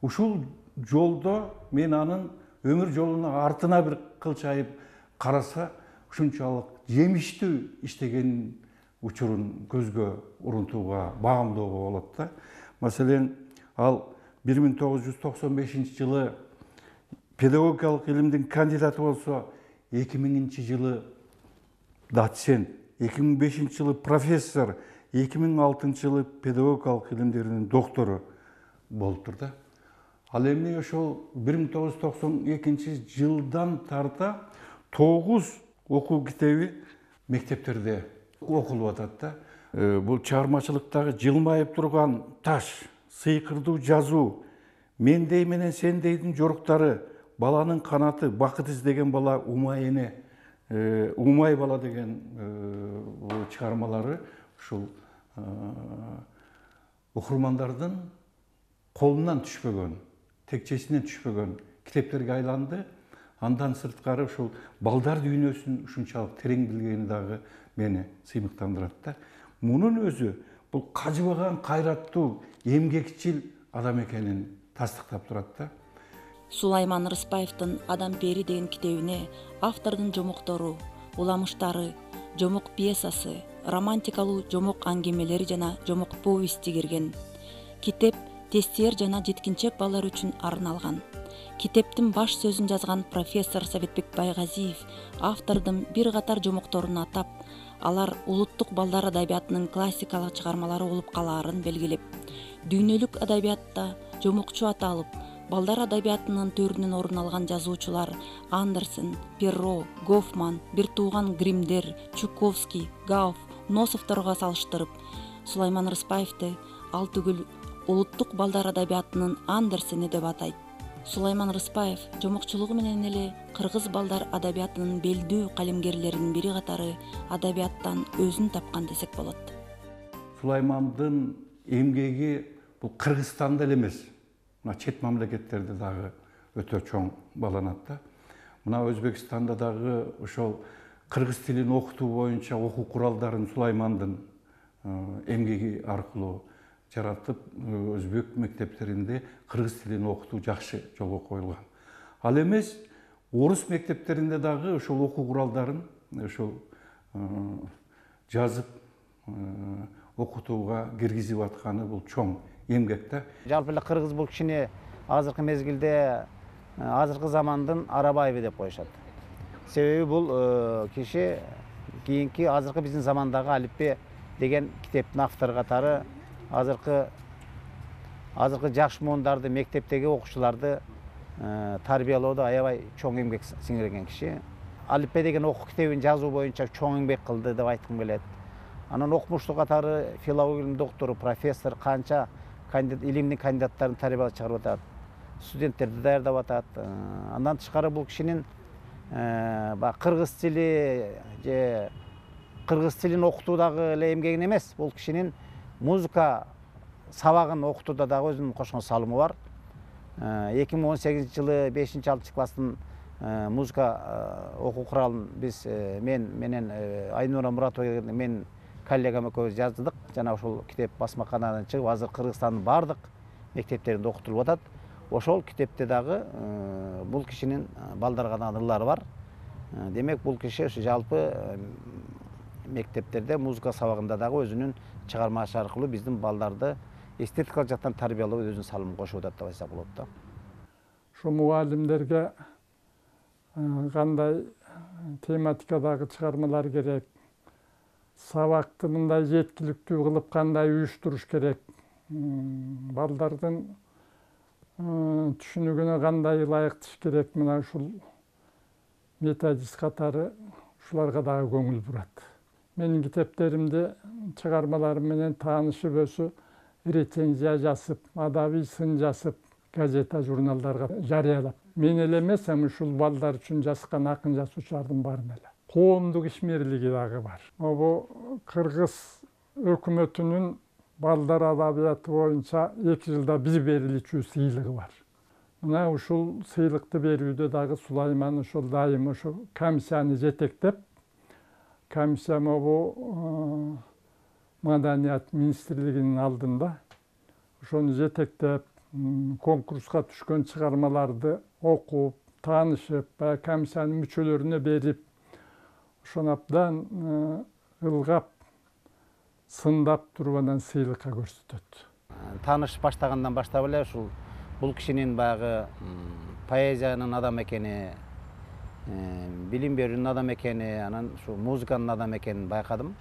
Ушул жолдо мен анын өмүр жолуна артына бир кылчайып караса, ушунчалык жемиштүү иштеген учурун көзгө урунтууга, багамдоого болот да. Маселен, ал 1995 жылы педагогикалык илимдин кандидаты болсо, 2000-жылы доцент, 2005 жылы профессор, 2006 жылы педагогикалык илимдердин доктору болуптур да. Ал эми ошол 1992 жылдан тарта 9 окуу китеби мектептерде окулуп атат да. Бул чыгармачылыктагы жылмайып турган таш, сыйкырдуу жазуу, мендей менен сендейдин жоруктары, баланын канаты, бакыт издеген бала умай эне, умай бала деген чыгармалары ушул окурмандардын колунан түшпөгөн, текчесинен түшпөгөн китептерге айланды. Андан сырткары ушул балдар дүйнөсүн ушунчалык терең билгени дагы мени сыймыктандырат да. Мунун өзү бул кажыбаган, кайраттуу, эмгекчил адам экенин тастыктап турат да. Сулайман Рыспаевдин «Адам пери» деген китебине автордун жомоктору, уламыштары, жомок пьесасы, романтикалуу жомок аңгемелери жана жомок повести кирген. Китеп тестер жана жеткинчек балдар үчүн арналган. Китептин баш сөзүн жазган профессор Советбек Байгазиев автордун бир катар жомокторун атап, алар улуттук балдар адабиятынын классикалык чыгармалары болуп калаарын белгилеп, дүйнөлүк адабиятта жомокчу аталып, балдар адабиятынын төрүнөн орун алган жазуучулар Андерсен, Перро, Гофман, бир тууган Гримдер, Чуковский, Гауф, Носовторго салыштырып, Сулайман Рыспаевди ал түгүл улуттук балдар адабиятынын Андерсени деп атайт. Сулайман Рыспаев жомокчулугу менен эле кыргыз балдар адабиятынын белдүү калемгерлеринин бири катары адабияттан өзүн тапкан десек болот. Сулаймандын эмгеги бул Кыргызстанда эле эмес, мына чет мамлекеттерде дагы өтө чоң бааланат да. Мына Өзбекстанда дагы ошол кыргыз тилин окутуу боюнча окуу куралдарын Сулаймандын эмгеги аркылуу жаратып, өзбек мектептеринде кыргыз тилин окутуу жакшы жолго коюлган. Ал эмес, орус мектептеринде дагы ошол окуу куралдарын ошол жазып окутууга киргизип атканы бул чоң эмгек да. Жалпы эле кыргыз бул кишини азыркы мезгилде азыркы замандын Арабаеви деп коюшат. Себеби бул киши кийинки азыркы биздин замандагы алиппе деген китептин автору катары азыркы жаш муундарды, мектептеги окуучуларды тарбиялоодо аябай чоң эмгек сиңирген киши. Алиппе деген окуу китебин жазуу боюнча чоң эмгек кылды деп айткым келет. Анан окумуштуу катары филологиянын доктору, профессор, канча илимдин кандидаттарын тарбиялап чыгарып атат. Студенттерди даярдап атат. Андан тышкары бул кишинин кыргыз тили же кыргыз тилин окутуудагы эле эмгегин эмес, бул кишинин музыка сабагын окутууда дагы өзүнүн кошкон салымы бар. 2018 жылы 5-6 класстын музыка окуу куралын биз мен менен Айнура Муратова мен коллегам экөөбүз жаздык. Жана ошол китеп басмаканадан чыгып, азыр Кыргызстандын бардык мектептеринде окутулуп атат. Ошол китепте дагы бул кишинин балдарга да ырлары бар. Демек бул киши жалпы мектептерде музыка сабагында дагы өзүнүн чыгармасы аркылуу биздин балдарды эстетикалык жактан тарбиялоого өзүнүн салымын кошуп атат деп айтсак болот да. Ошо мугалимдерге кандай тематикадагы чыгармалар керек, сабакты мындай жеткиликтүү кылып кандай уюштуруш керек, балдардын түшүнүгүнө кандай ылайыктыш керек, мына ушул методист катары ушуларга дагы көңүл бурат. Менин китептеримде чыгармаларым менен таанышып өсүп, рецензия жазып, адабий сын жазып, газета, журналдарга жарыялап. Мен эле эмес, ушул балдар үчүн жазган акын жазуучулардын баарын эле. Коомдук ишмерлиги дагы бар. Могу Кыргыз өкмөтүнүн балдар адабияты боюнча 2 жылда бир бериличү сыйлыгы бар. Мына ушул сыйлыкты берүүдө дагы Сулайман ошол дайым ошо комиссияны жетектеп, комиссия могу Маданият министрлигинин алдында ошону жетектеп, конкурска түшкөн чыгармаларды окуп, таанышып, комиссиянын мүчөлөрүнө берип, ошону абдан ылгап, сындап туруп анан сыйлыкка көрсөтөт. Тааныш баштагандан баштап эле ушул бул кишинин баягы поэзиянын адамы экени, билим берүүнүн адамы экени, анан ушу музыканын адамы экенин байкадым.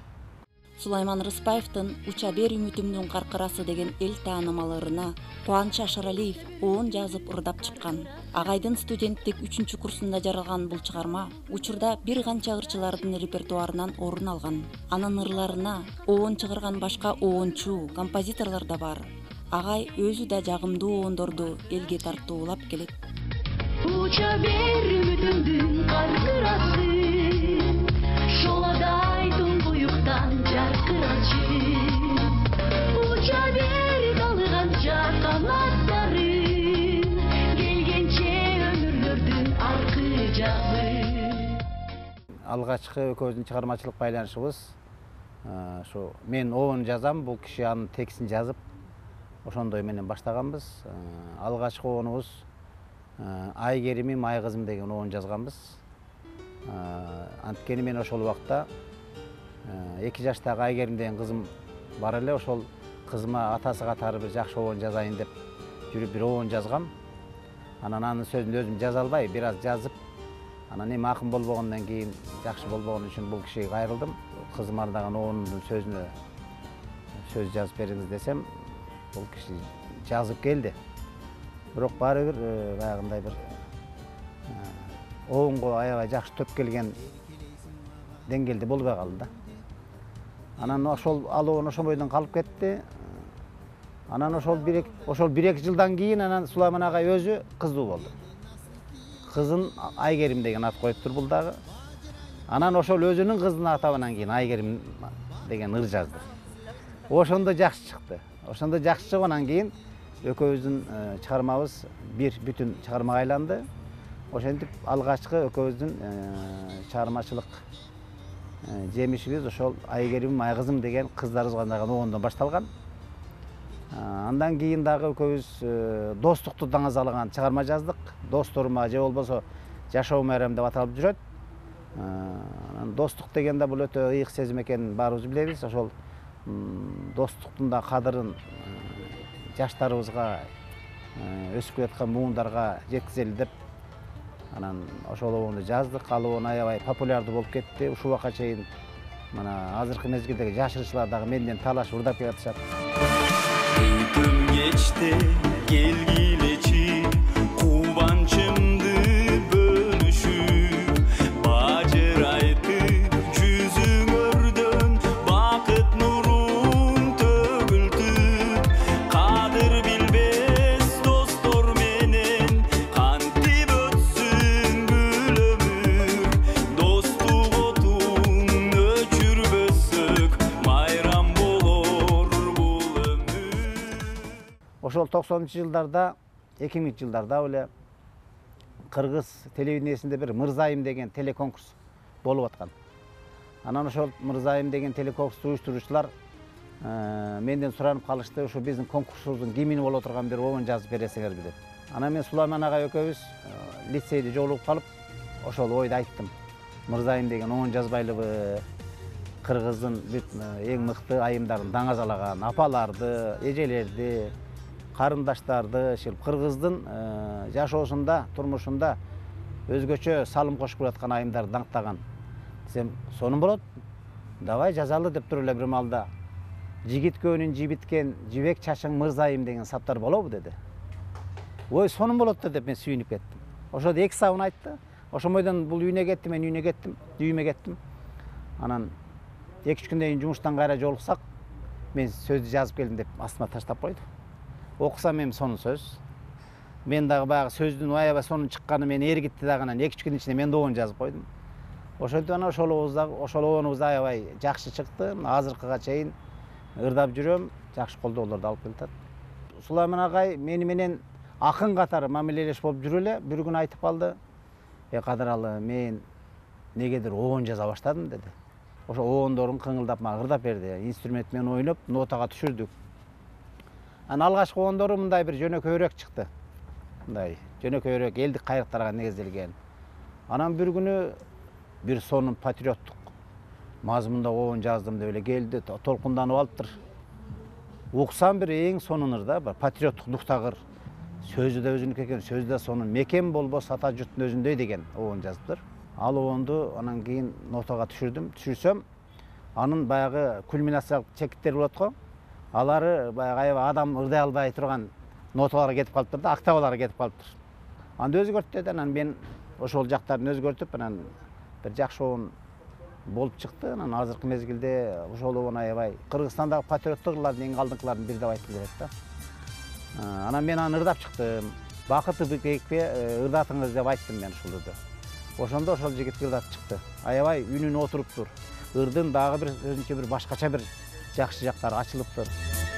Сулайман Рыспаевдин «Уча бер үмүтүмдүн каркырасы» деген эл таанымаларына Кубаныч Ашаралиев оон жазып ырдап чыккан. Агайдын студенттик 3-курсунда жаралган бул чыгарма учурда бир канча ырчылардын репертуарынан орун алган. Анын ырларына оон чыгарган башка оончу, композиторлор да бар. Агай өзү да жагымдуу оондорду элге тартуулап келет. Уча бер үмүтүмдүн каркырасы, шоладай туңгуюктан жаркырачы. Уча бер далганча канаттары, келгенче өмүрлөрдүн аркы жагы. Алгачкы экөөбүздүн чыгармачылык байланышыбыз ушу мен оон жазам, бул киши анын текстин жазып, ошондой менен баштаганбыз. Алгачкы оонубуз Айгеримим, Айкызым деген оон жазганбыз. Анткени мен ошол убакта 2 жаштагы Айгерим деген кызым бар эле, ошол кызыма атасы катары бир жакшы оон жазайын деп жүрүп бир оон жазгам. Анан анын сөзүн өзүм жаза албай, бир аз жазып, анан эми акын болбогондон кийин, жакшы болбогон үчүн бул кишиге кайрылдым. Кызым ардаган оонумдун сөзүнө сөз жазып бериңиз десем, бул киши жазып келди. Бирок баары бир баягындай бир оонго аябай жакшы төп келген деңгээлде болбой калды да. Анан ошол ал оон ошол бойдон калып кетти. Анан ошол 1-2 жылдан кийин анан Сулайман агай өзү кыздуу болду. Кызын Айгерим деген ат коюптур бул дагы. Анан ошол өзүнүн кызынын атабынан кийин Айгерим деген ыр жазды. Ошондо жакшы чыкты. Ошондо жакшы чыггандан кийин экөөбүздүн чыгармабыз бир бүтүн чыгармага айланды. Ошентип алгачкы экөөбүздүн чыгармачылык жемишибиз ошол Айгерим, Айкызым деген кыздарыбызга арналган оондон башталган. Андан кийин дагы экөөбүз достукту даңазалаган чыгарма жаздык. Досторума же болбосо жашоо майрам деп аталып жүрөт. Достук дегенде бул өтө ыйык сезим экенин баарыбыз билебиз. Ошол достуктун да кадырын жаштарыбызга, өсүп келаткан муундарга жеткизели деп анан ошол оонду жаздык. Ал оон аябай популярдуу болуп кетти. Ушул убакка чейин мына азыркы мезгилдеги жаш ырчылар дагы менден талашып ырдап келатышат. Күн кечте келгилечи кубанчымды бөлүшүп, бажырайтып жүзүңөрдөн бакыт нурун төгүлтүп, кадыр билбес достор менен кантип өтсүн бүл өмүр, достук отун өчүрбөсөк майрам болор бул өмүр. Ошол 90-жылдарда, 2000-жылдарда эле Кыргыз телевидениесинде бир Мырзайым деген телеконкурс болуп аткан. Анан ошол Мырзайым деген телеконкурсту уюштуруучулар менден суранып калышты, ушу биздин конкурсубуздун гимни боло турган бир оон жазып бересиңерби деп. Анан мен Сулайман агай экөөбүз лицейде жолугуп калып, ошол ойду айттым. Мырзайым деген оон жазбайлыбы? Кыргыздын эң мыкты айымдарын даңазалаган апаларды, эжелерди, карындаштарды, Кыргыздын жашоосунда, турмушунда өзгөчө салым кошуп келаткан айымдарды даңктаган десем, сонун болот. Давай жазалы деп туруп эле бир маалда. Жигит көөнүн жибиткен, жибек чачың мырзайым деген саптар болобу деди. Ой, сонун болот да деп мен сүйүнүп кеттим. Ошодо 2 сабын айтты. Ошомойдон бул үйүнө кетти, мен үйүнө кеттим, үйүмө кеттим. Анан 2-3 күндөн кийин жумуштан кайра жолуксак, мен сөздү жазып келдим деп астыма таштап койду. Окусам эми сонун сөз. Мен дагы баягы сөздүн аябай сонун чыкканы мени эргитти дагы, анан 2-3 күн ичинде мен да обон жазып койдум. Ошентип анан ошол обонубуз аябай жакшы чыкты. Азыркыга чейин ырдап жүрөм, жакшы колдоолорду алып келатат. Сулайман агай мени менен акын катары мамилелеш болуп жүрүп эле бир күн айтып калды. Кадыралы, мен негедир обон жаза баштадым деди. Ошо обондорун кыңылдап мага ырдап берди. Инструмент менен ойноп, нотага түшүрдүк. Анан алгачкы обондору мындай бир жөнөкөйрөөк чыкты. Мындай жөнөкөйрөөк элдик кайрыктарга негизделген. Анан бир күнү бир сонун патриоттук мазмунда обон жаздым деп эле келди, толкунданып алыптыр. Уксам бир эң сонун ыр да, патриоттук дуктагыр. Сөзү да өзүнүкү экен, сөзү да сонун. Мекен болбос ата журттун өзүндөй деген обон жазыптыр. Ал обонду анан кийин нотага түшүрсөм, анын баягы кульминациялык чекиттер болот го. Алары баягы аябай адам ырдай албай турган ноталарга кетип калыптыр да, октаваларга кетип калыптыр. Анда өзгөрттү, анан мен ошол жактарын өзгөртүп, анан бир жакшы обон болуп чыкты. Анан азыркы мезгилде ошол обон аябай Кыргызстандагы патриоттук ырлардын эң алдыңкылардын бири деп айтып берет да. Анан мен аны ырдап чыктым. Бакыты бекпе ырдатыңыз деп айттым мен ушул ырды. Ошондо ошол жигит ырдатып чыкты. Аябай үнүн отуруптур. Ырдын дагы бир өзүнчө бир башкача бир жакшы жактары ачылыптыр.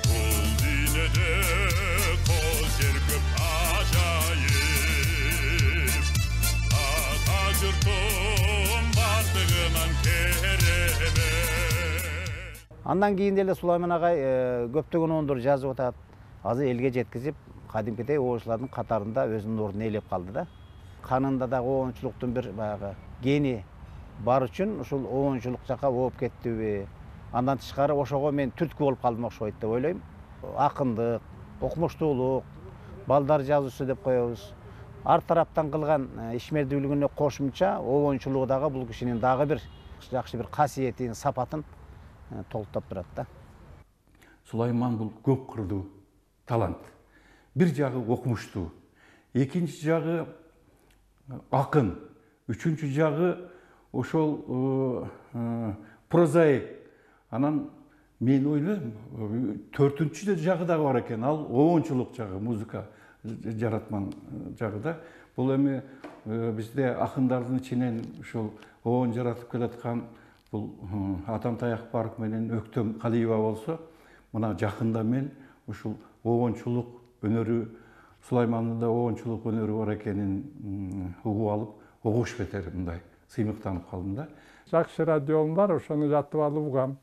Бул дүйнөдө кол жер көп ажайып, ата журтум бардыгынан керемет. Андан кийин деле Сулайман агай көптөгөн обондор жазып атат. Азыр элге жеткизип, кадимкидей обончулардын катарында өзүнүн ордун ээлеп калды да. Канында дагы обончулуктун бир баягы гени бар үчүн ушул обончулук жакка ооп кеттиби. Андан тышкары ошого мен түрткү болуп калдым окшойт деп ойлойм. Акындык, окумуштуулук, балдар жазуусу деп коебуз. Ар тараптан кылган ишмердүүлүгүнө кошумча обончулугу дагы бул кишинин дагы бир жакшы бир касиетин, сапатын толуктап турат да. Сулайман бул көп кырдуу талант. Бир жагы окумуштуу, экинчи жагы акын, үчүнчү жагы ошол прозаик. Анан мен ойлойм, төртүнчү жагы дагы бар экен, ал обончулук жагы, музыка жаратман жагы да. Бул эми бизде акындардын ичинен ушул обон жаратып келаткан бул Атам Таякбаров менен Өктөм Калиева болсо, мына жакында мен ушул обончулук өнөрү, Сулаймандын да обончулук өнөрү бар экенин угуп алып, огуш бетер мындай сыймыктанып калдым да. Жакшы радиом бар, ошону жатып алып угам.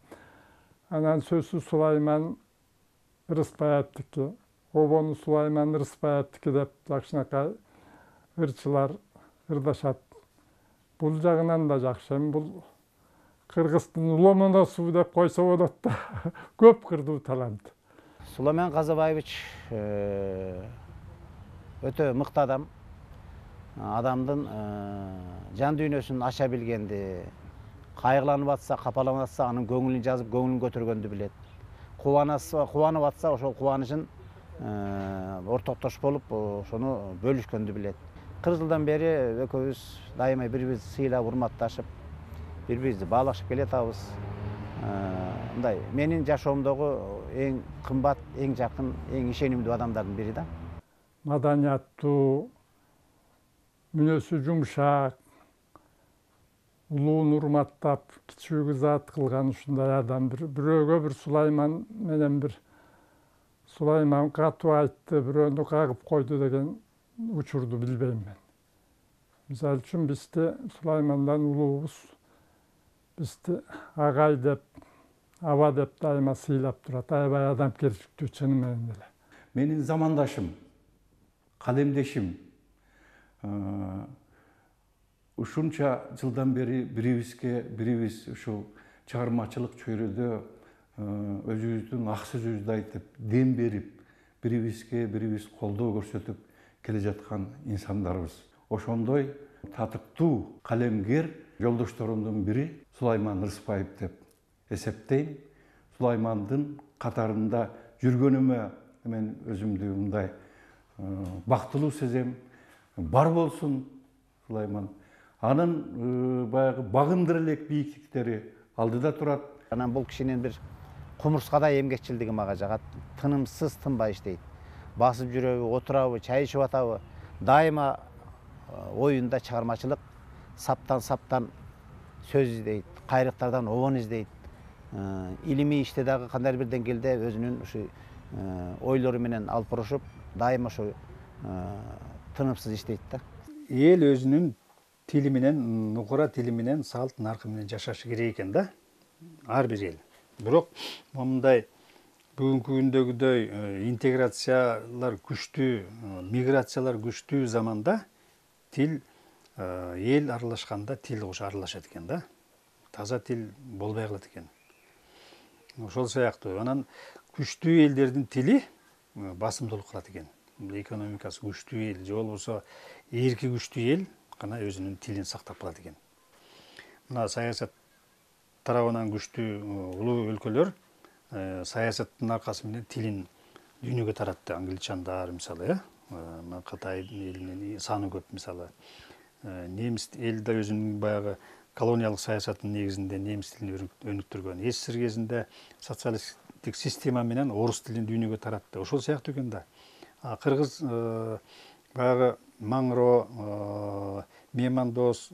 Анан сөзсүз Сулайман Рыспаевдики, обону Сулайман Рыспаевдики деп жакшынакай ырчылар ырдашат. Бул жагынан да жакшы. Бул Кыргыздын уломоносу деп койсо болот да. Көп кырдуу талант. Сулайман Казабаевич өтө мыкты адам. Адамдын жан дүйнөсүн аша билгенди, кайгыланып атса, капаланып атса, анын көңүлүн жазып, көңүлүн көтөргөндү билет. Кубанып атса, ошол кубанычын ортоктош болуп, ошону бөлүшкөндү билет. 40 жылдан бери экөөбүз дайыма бири-бирибизди сыйлап, урматташып, бири-бирибизди баалашып келатабыз. Мындай менин жашоомдогу эң кымбат, эң жакын, эң ишенимдүү адамдардын бири да. Маданияттуу, мүнөсү жумшак, улуун урматтап, кичүүгө зат кылган ушундай адам. Бирөөгө бир Сулайман менен бир Сулайман катуу айтты, бирөөнү кагып койду деген учурду билбейм мен. Мисалы үчүн бизди Сулаймандан улуубуз, бизди агай деп, аба деп дайыма сыйлап турат. Аябай адамгерчиликтүү чыны менен эле. Менин замандашым, калемдешим, ушунча жылдан бери бирибиз ушул чыгармачылык чөйрөдө өзүбүздүн ак сөзүбүздү айтып, дем берип, бирибиз колдоо көрсөтүп келе жаткан инсандарбыз. Ошондой татыктуу калемгер жолдошторумдун бири Сулайман Рыспаев деп эсептейм. Сулаймандын катарында жүргөнүмө мен өзүмдү мындай бактылуу сезем. Бар болсун Сулайман. Анын баягы багындыра элек бийиктиктери алдыда турат. Анан бул кишинин бир кумурскадай эмгекчилдиги мага жагат. Тынымсыз тынбай иштейт. Басып жүрөбү, отурабы, чай ичип атабы, дайыма оюнда чыгармачылык, саптан сөз издейт, кайрыктардан обон издейт. Илимий иште дагы кандайдыр бир деңгээлде өзүнүн ушу ойлору менен алып барышып, дайыма ушу тынымсыз иштейт да. Эл өзүнүн тили менен, нукура тили менен, салт наркы менен жашашы керек экен да. Ар бир эл. Бирок момундай бүгүнкү күндөгүдөй интеграциялар күчтүү, миграциялар күчтүү заманда тил эл аралашканда тил кошо аралашат экен да. Таза тил болбой калат экен. Ошол сыяктуу анан күчтүү элдердин тили басымдуулук кылат экен. Экономикасы күчтүү эл же болбосо эрки күчтүү эл гана өзүнүн тилин сактап калат экен. Мына саясат тарабынан күчтүү улуу өлкөлөр саясаттын аркасы менен тилин дүйнөгө таратты. Англичандар мисалы, Кытай элинин саны көп мисалы. Немис эл да өзүнүн баягы колониялык саясаттын негизинде немис тилин өнүктүргөн. СССР кезинде социалисттик система менен орус тилин дүйнөгө таратты. Ошол сыяктуу экен да. Кыргыз баягы Маңро, Мемандос,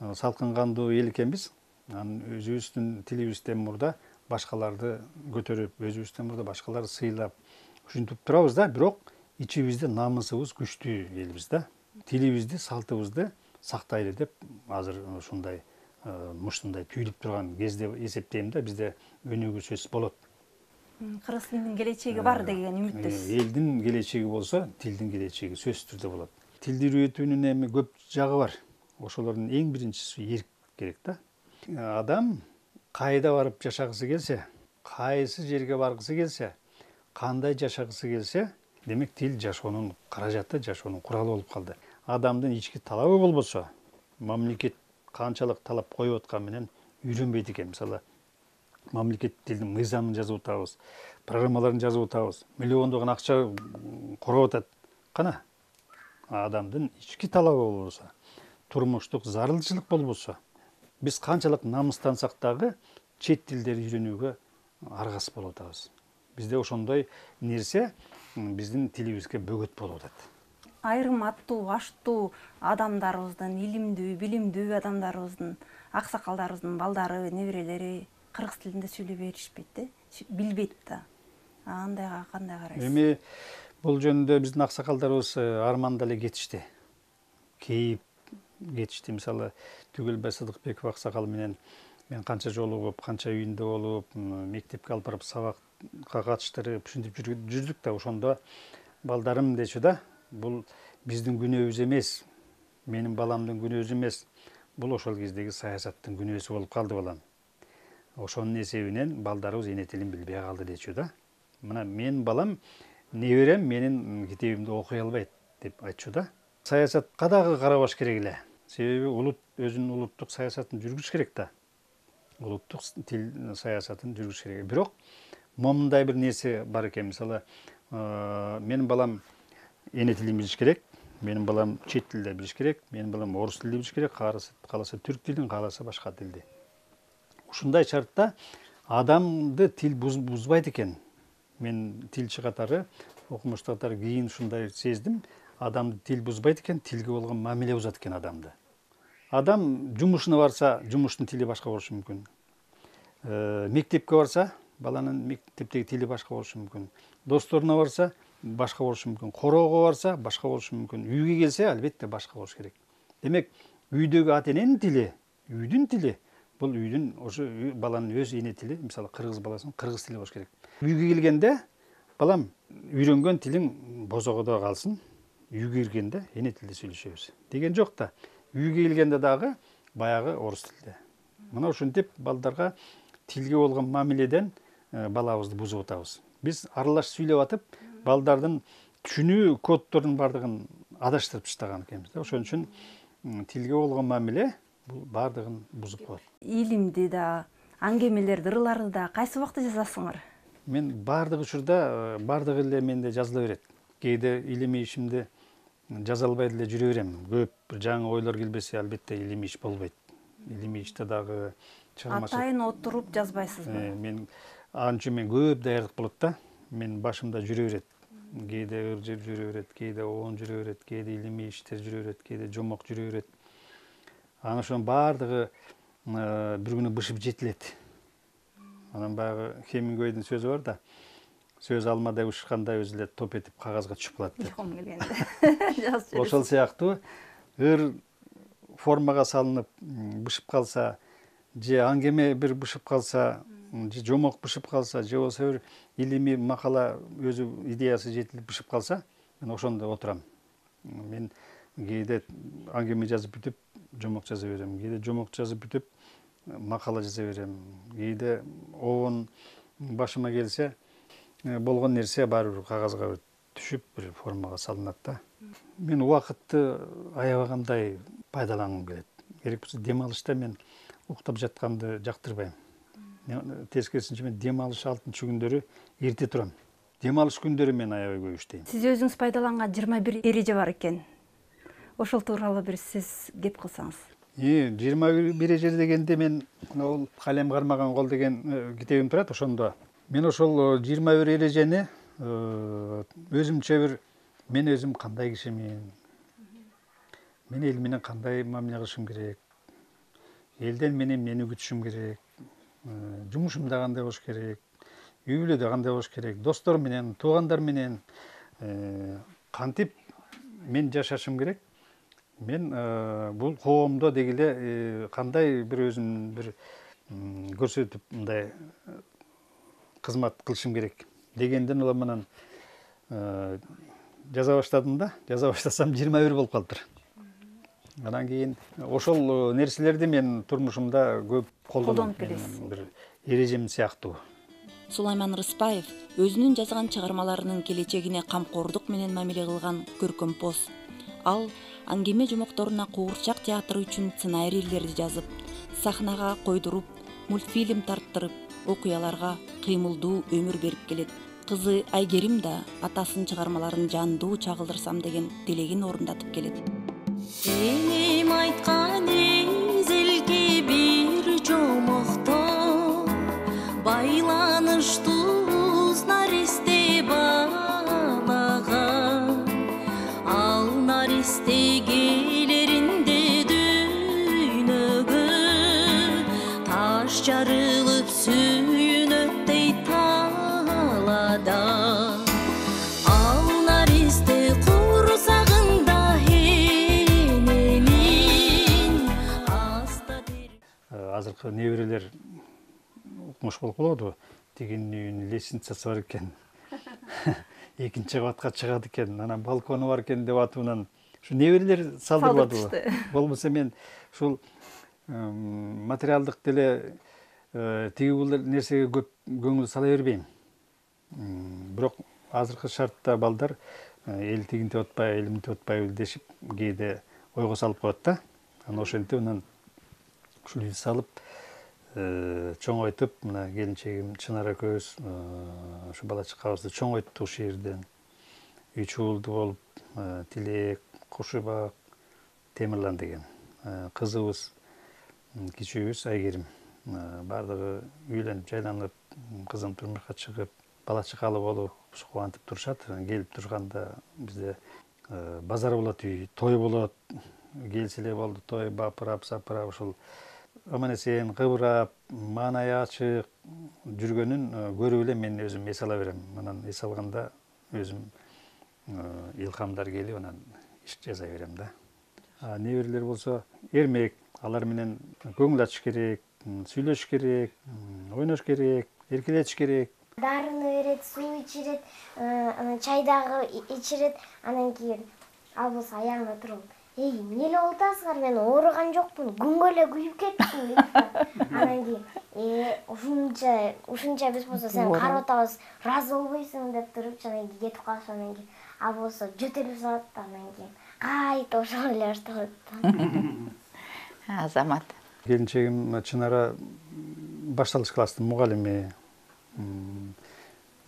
салкын кандуу эл экенбиз. Анан өзүбүздүн тилибизден мурда башкаларды көтөрүп, өзүбүздөн мурда башкаларды сыйлап, ушинтип турабыз да, бирок ичибизде намысыбыз күчтүү элбиз да. Тилибизди, салтыбызды сактайлы деп азыр ушундай муштундай түйүлүп турган кезде эсептейм да, бизде өнүгүү сөз болот. Кыргыз тилинин келечеги бар деген үмүттөсүз. Элдин келечеги болсо, тилдин келечеги сөзсүз түрдө болот. Тилди үйрөтүүнүн эми көп жагы бар. Ошолордун эң биринчиси эрк керек да. Адам кайда барып жашагысы келсе, кайсы жерге баргысы келсе, кандай жашагысы келсе, демек тил жашоонун каражаты, жашоонун куралы болуп калды. Адамдын ички талабы болбосо, мамлекет канчалык талап коюп аткан менен үйрөнбөйт экен. Мисалы, мамлекет тилдин мыйзамын жазып атабыз, программаларын жазып атабыз, миллиондогон акча короп атат. Кана адамдын ички талабы болбосо, турмуштук зарылчылык болбосо, биз канчалык намыстансак дагы чет тилдерди үйрөнүүгө аргасыз болуп атабыз. Бизде ошондой нерсе биздин тилибизге бөгөт болуп атат. Айрым аттуу, аштуу адамдарыбыздын, илимдүү, билимдүү адамдарыбыздын, аксакалдарыбыздын балдары, неберелери кыргыз тилинде сүйлөй беришпейт да, билбейт да. Андайга кандай карайсыз? Эми бул жөнүндө биздин аксакалдарыбыз арманда эле кетишти. Кейип кетишти. Мисалы, Түгөлбай Сыдыкбеков аксакал менен мен канча жолугуп, канча үйүндө болуп, мектепке алып барып сабакка катыштырып, ушинтип жүрдүк да, ошондо балдарым дечү да, бул биздин күнөөбүз эмес, менин баламдын күнөөсү эмес, бул ошол кездеги саясаттын күнөөсү болуп калды балам. Ошонун эсебинен балдарыбыз эне тилин билбей калды дечү да. Мына менин балам, неберем менин китебимди окуй албайт деп айтчу да. Саясатка дагы карабаш керек эле. Себеби улут өзүнүн улуттук саясатын жүргүзүш керек да. Улуттук тил саясатын жүргүзүш керек. Бирок момундай бир нерсе бар экен. Мисалы, менин балам эне тилин билиш керек, менин балам чет тилде билиш керек, менин балам орус тилди билиш керек, кааласа түрк тилин, кааласа башка тилди. Ушундай шартта адамды тил бузбайт экен. Мен тилчи катары, окумуштуу катары кийин ушундай сездим. Адамды тил бузбайт экен, тилге болгон мамиле бузат экен адамды. Адам жумушуна барса, жумуштун тили башка болушу мүмкүн. Мектепке барса, баланын мектептеги тили башка болушу мүмкүн. Досторуна барса, башка болушу мүмкүн. Короого барса, башка болушу мүмкүн. Үйгө келсе, албетте башка болуш керек. Демек, үйдөгү ата эненин тили, үйдүн тили, бул үйдүн ошо баланын өз эне тили, мисалы кыргыз баласынын кыргыз тили болуш керек. Үйгө келгенде, балам, үйрөнгөн тилиң бозогодо калсын, үйгө киргенде эне тилде сүйлөшөбүз деген жок да. Үйгө келгенде дагы баягы орус тилде. Мына ушинтип балдарга тилге болгон мамиледен балабызды бузуп атабыз. Биз аралаш сүйлөп атып, балдардын түшүнүү коддорунун бардыгын адаштырып таштаган экенбиз да. Ошон үчүн тилге болгон мамиле бул бардыгын бузуп коет. Илимди да, аңгемелерди, ырларды да кайсы убакта жазасыңар? Мен баардык учурда баардык эле менде жазыла берет. Кээде илимий ишимди жаза албай деле жүрө берем. Көп бир жаңы ойлор келбесе, албетте илимий иш болбойт. Илимий иште дагы чыгармачылык. Атайын отуруп жазбайсызбы? Мен ал үчүн мен көп даярдык болот да. Мен башымда жүрө берет. Кээде ыр жеп жүрө берет, кээде оон жүрө берет, кээде илимий иштер жүрө берет, кээде жомок жүрө берет. Анан ошонун баардыгы бир күнү бышып жетилет. Анан баягы Хемингуэйдин сөзү бар да, сөз алмадай ушканда өзү эле топ этип кагазга түшүп калат деп. Илхом келгенде. Ошол сыяктуу ыр формага салынып бышып калса, же аңгеме бир бышып калса, же жомок бышып калса, же болбосо бир илимий макала өзү идеясы жетилип бышып калса, мен ошондо отурам. Мен кээде аңгеме жазып бүтүп, жомок жаза берем. Кээде жомок жазып бүтүп, макала жаза берем. Кээде оон башыма келсе, болгон нерсе баары бир кагазга түшүп, бир формага салынат да. Мен убакытты аябагандай пайдалангым келет. Керек болсо дем алышта мен уктап жатканды жактырбайм. Тескерисинче мен дем алыш 6-чы күндөрү эрте турам. Дем алыш күндөрү мен аябай көп иштейм. Сиз өзүңүз пайдаланган 21 эреже бар экен. Ошол тууралуу бир сиз кеп кылсаңыз. 21 эреже дегенде мен ол калем кармаган кол деген китебим турат, ошондо. Мен ошол 21 эрежени өзүмчө бир мен өзүм кандай кишимин, мен эл менен кандай мамиле кылышым керек, элден менен эмнени күтүшүм керек, жумушумда кандай болуш керек, үй бүлөдө кандай болуш керек, достор менен, туугандар менен кантип мен жашашым керек. Мен бул коомдо деги эле кандай бир өзүм бир көрсөтүп мындай кызмат кылышым керек дегенден улам анан жаза баштадым да. Жаза баштасам 21 болуп калыптыр. Анан кийин ошол нерселерди мен турмушумда көп колдонуп келесиз. Бир эрежем сыяктуу. Сулайман Рыспаев өзүнүн жазган чыгармаларынын келечегине камкордук менен мамиле кылган көркөмпоз. Ал аңгеме жомокторуна куурчак театры үчүн сценарийлерди жазып, сахнага койдуруп, мультфильм тарттырып, окуяларга кыймылдуу өмүр берип келет. Кызы Айгерим да атасынын чыгармаларын жандуу чагылдырсам деген тилегин орундатып келет. Энем айткан эзелге бир жомокто байланыштуз наристе балага, ал наристе келеринде дүйнөгө таш жарылып сүйүнөттөй талада. Ал наристе курсагында эненин аста Азыркы неберелер укмуш болуп калабы? Тигинин үйүнүн лестницасы бар экен. Экинчи кабатка чыгат экен, анан балкону бар экен деп атынан ушу неберелер салдырбадыбы? Болбосо мен ушул материалдык деле тиги бул нерсеге көп көңүл сала бербейм. Бирок азыркы шартта балдар эл тигинтип атпайбы, элимтип атпайбы дешип кээде ойго салып коет да. Анан ошентип анан ушул ил салып чоңойтуп, мына келинчегим Чынар экөөбүз ушу бала чакабызды чоңойттук ушул жерден. Үч уулду болуп, Тилек, Кушубак, Темирлан деген. Кызыбыз кичүүбүз Айгерим. Бардыгы үйлөнүп, жайланып, кызым турмушка чыгып, бала чакалы болуп, кубантып турушат. Келип турганда бизде базар болот, үй, той болот. Келсе эле болду той, бапырап, сапырап, ушул аман-эсен кыбырап, маанайы ачык жүргөнүн көрүп эле мен өзүм эс ала берем. Анан эс алганда өзүм илхамдар келип, анан иш жаза берем да. Неберелер болсо эрмек, алар менен көңүл ачыш керек, сүйлөшүш керек, ойнош керек, эркелетиш керек. Дарыны берет, суу ичирет, анан чайдагы ичирет, анан кийин ал болсо аягына туруп, эй, эмне эле болуп атасыңар, мен ооруган жокмун, күнгө эле күйүп кеттим дейт. Анан кийин, ушунча биз болсо сени карап атабыз, ыраазы болбойсуң деп туруп, анан кийин кетип калышып, анан кийин ал болсо жөтөлүп салат да, анан кийин кайта ошол эле башталат да. Азамат. Келинчегим Чынара башталыш класстын мугалими.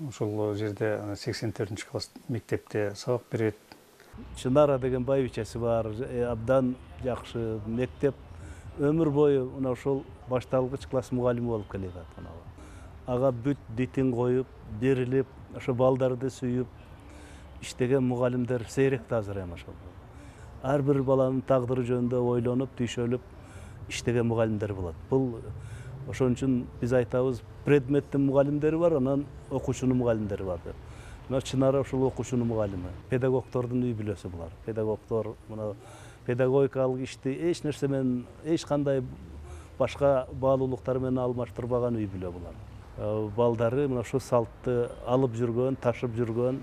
Ошол жерде 84-класс мектепте сабак берет. Чынара деген байбичеси бар, абдан жакшы мектеп. Өмүр бою мына ошол башталгыч класс мугалими болуп келе жатат. Ага бүт дитин коюп, берилип, ошо балдарды сүйүп иштеген мугалимдер сейрек азыр эми ошол. Ар бир баланын тагдыры жөнүндө ойлонуп, түйшөлүп иштеген мугалимдер болот. Бул ошон үчүн биз айтабыз, предметтин мугалимдери бар, анан окуучунун мугалимдери бар деп. Мына Чынара ошол окуучунун мугалими. Педагогдордун үй бүлөсү булар. Педагогдор мына педагогикалык ишти эч нерсе менен, эч кандай башка баалуулуктар менен алмаштырбаган үй бүлө булар. Балдары мына ошол салтты алып жүргөн, ташып жүргөн,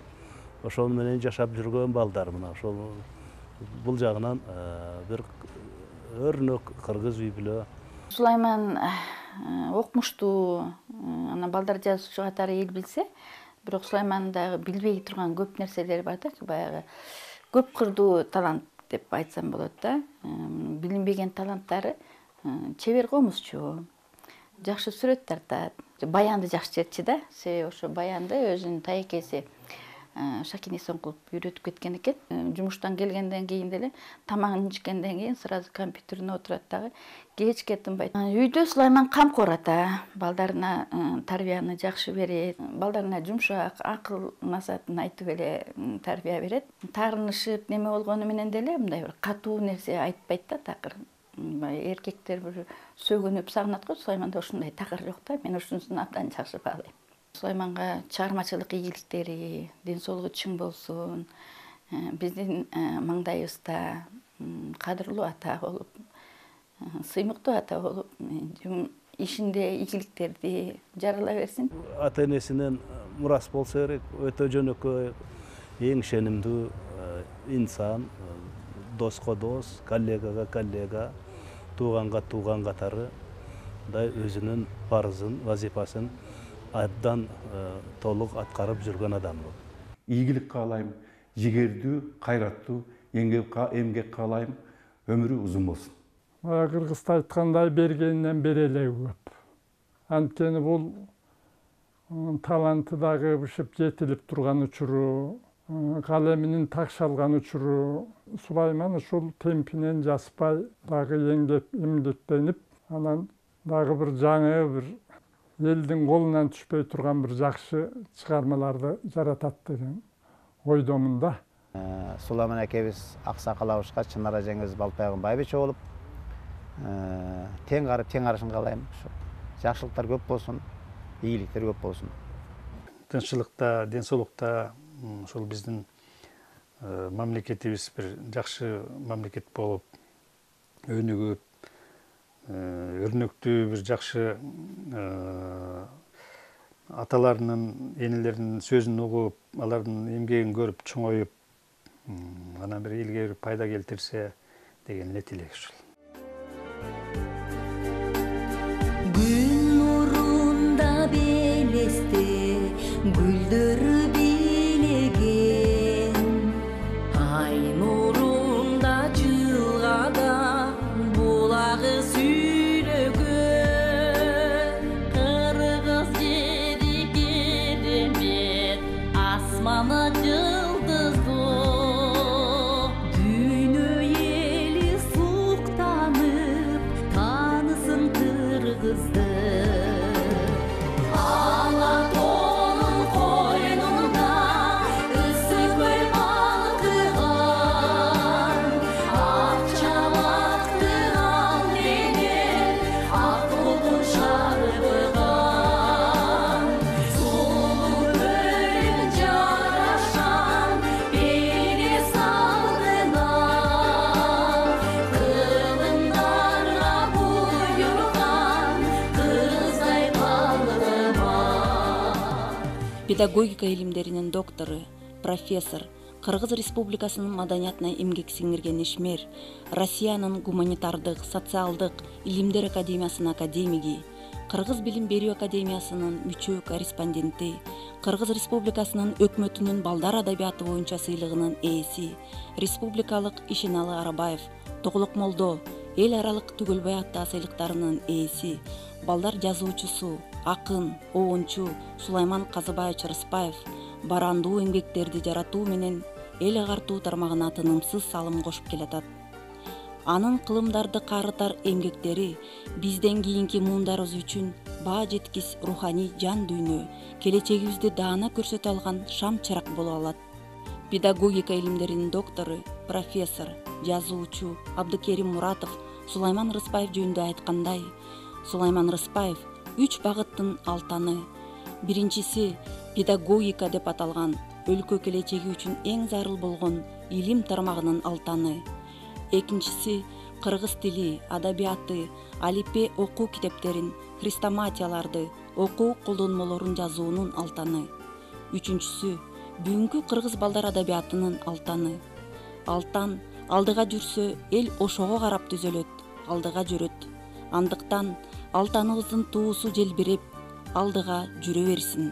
ошол менен жашап жүргөн балдар мына ошол бул жагынан бир өрнөк кыргыз үй бүлө. Сулайман окумуштуу, анан балдар жазуучу катары эл билсе, бирок Сулаймандын дагы билбей турган көп нерселери бар да, баягы көп кырдуу талант деп айтсам болот да. Билинбеген таланттары чебер комузчу, жакшы сүрөт тартат, баянды жакшы чечти да. Ошо баянды өзүнүн тайекеси Шакин Исонкулов үйрөтүп кеткен экен. Жумуштан келгенден кийин деле тамагын ичкенден кийин сразу компьютерине отурат дагы, кечке тынбайт. Үйдө Сулайман камкор ата, балдарына тарбияны жакшы берет, балдарына жумшак, акыл насаатын айтып эле тарбия берет. Таарынышып неме болгону менен деле мындай бир катуу нерсе айтпайт да, такыр. Эркектер бир сөгүнүп сагынат го, Сулайманда ошондой такыр жок да. Мен ушунусун абдан жакшы баалайм. Сулайманга чыгармачылык ийгиликтери, ден соолугу чың болсун, биздин маңдайыбызда кадырлуу ата болуп, сыймыктуу ата болуп, ишинде ийгиликтерди жарала берсин. Ата энесинен мурас болсо керек, өтө жөнөкөй, эң ишенимдүү инсан, доско дос, коллегага коллега, тууганга тууган катары өзүнүн парызын, вазифасын абдан толук аткарып жүргөн адам бул. Ийгилик каалайм, жигердүү, кайраттуу, эмгек каалайм, өмүрү узун болсун. Кыргызда айткандай бергенинен бере эле көп. Анткени бул таланты дагы бышып жетилип турган учуру, калеминин такшалган учуру, Сулайман ушул темпинен жаспай дагы эмгектенип, анан дагы бир жаңы бир элдин колунан түшпөй турган бир жакшы чыгармаларды жаратат деген ойдомун да. Сулайман акебиз аксакал абышка, Чынара жеңебиз балпайгын байбиче болуп, тең карып, тең карашын каалайм. Жакшылыктар көп болсун, ийгиликтер көп болсун. Тынччылыкта, ден соолукта ошол биздин мамлекетибиз бир жакшы мамлекет болуп, өнүгүп, өрнөктүү бир жакшы аталарынын, энелеринин сөзүн угуп, алардын эмгегин көрүп чоңоюп, анан бир элге бир пайда келтирсе деген эле тилек ушул. Гүл нурунда белесте гүлдөр бийлеген, ай нурунда жылгада булагы сүйлөгөн, кыргыз жери керемет, асманы жылдыздуу, дүйнө эли суктанып таанысын кыргызды. Алатонун койнунда ысык көл балкыган, ак чабактын ал менен ак толкун шарбыган, сулуу көлүн жарашкан белес алдына, кылымдарга буйруган кыздай балкыма. Педагогика илимдеринин доктору, профессор, Кыргыз Республикасынын маданиятына эмгек сиңирген ишмер, Россиянын гуманитардык, социалдык илимдер академиясынын академиги, Кыргыз билим берүү академиясынын мүчө корреспонденти, Кыргыз Республикасынын өкмөтүнүн балдар адабияты боюнча сыйлыгынын ээси, республикалык Ишеналы Арабаев, Тоголок Молдо, эл аралык Түгөлбай ата сыйлыктарынын ээси, балдар жазуучусу, акын, оончу Сулайман Казыбаевич Рыспаев барандуу эмгектерди жаратуу менен эл агартуу тармагына тынымсыз салым кошуп келатат. Анын кылымдарды каарытар эмгектери бизден кийинки муундарыбыз үчүн баа жеткис руханий жан дүйнө, келечегибизди даана көрсөтө алган шам чырак боло алат. Педагогика илимдеринин доктору, профессор, жазуучу Абдыкерим Муратов Сулайман Рыспаев жөнүндө айткандай, Сулайман Рыспаев 3 багыттын алтаны. Биринчиси педагогика деп аталган өлкө келечеги үчүн эң зарыл болгон илим тармагынын алтаны. Экинчиси кыргыз тили, адабияты, алипе окуу китептерин, хрестоматияларды, окуу колдонмолорун жазуунун алтаны. Үчүнчүсү бүгүнкү кыргыз балдар адабиятынын алтаны. Алтан алдыга жүрсө эл ошого карап түзөлөт, алдыга жүрөт. Андыктан алтаныбыздын туусу желбиреп алдыга жүрө берсин.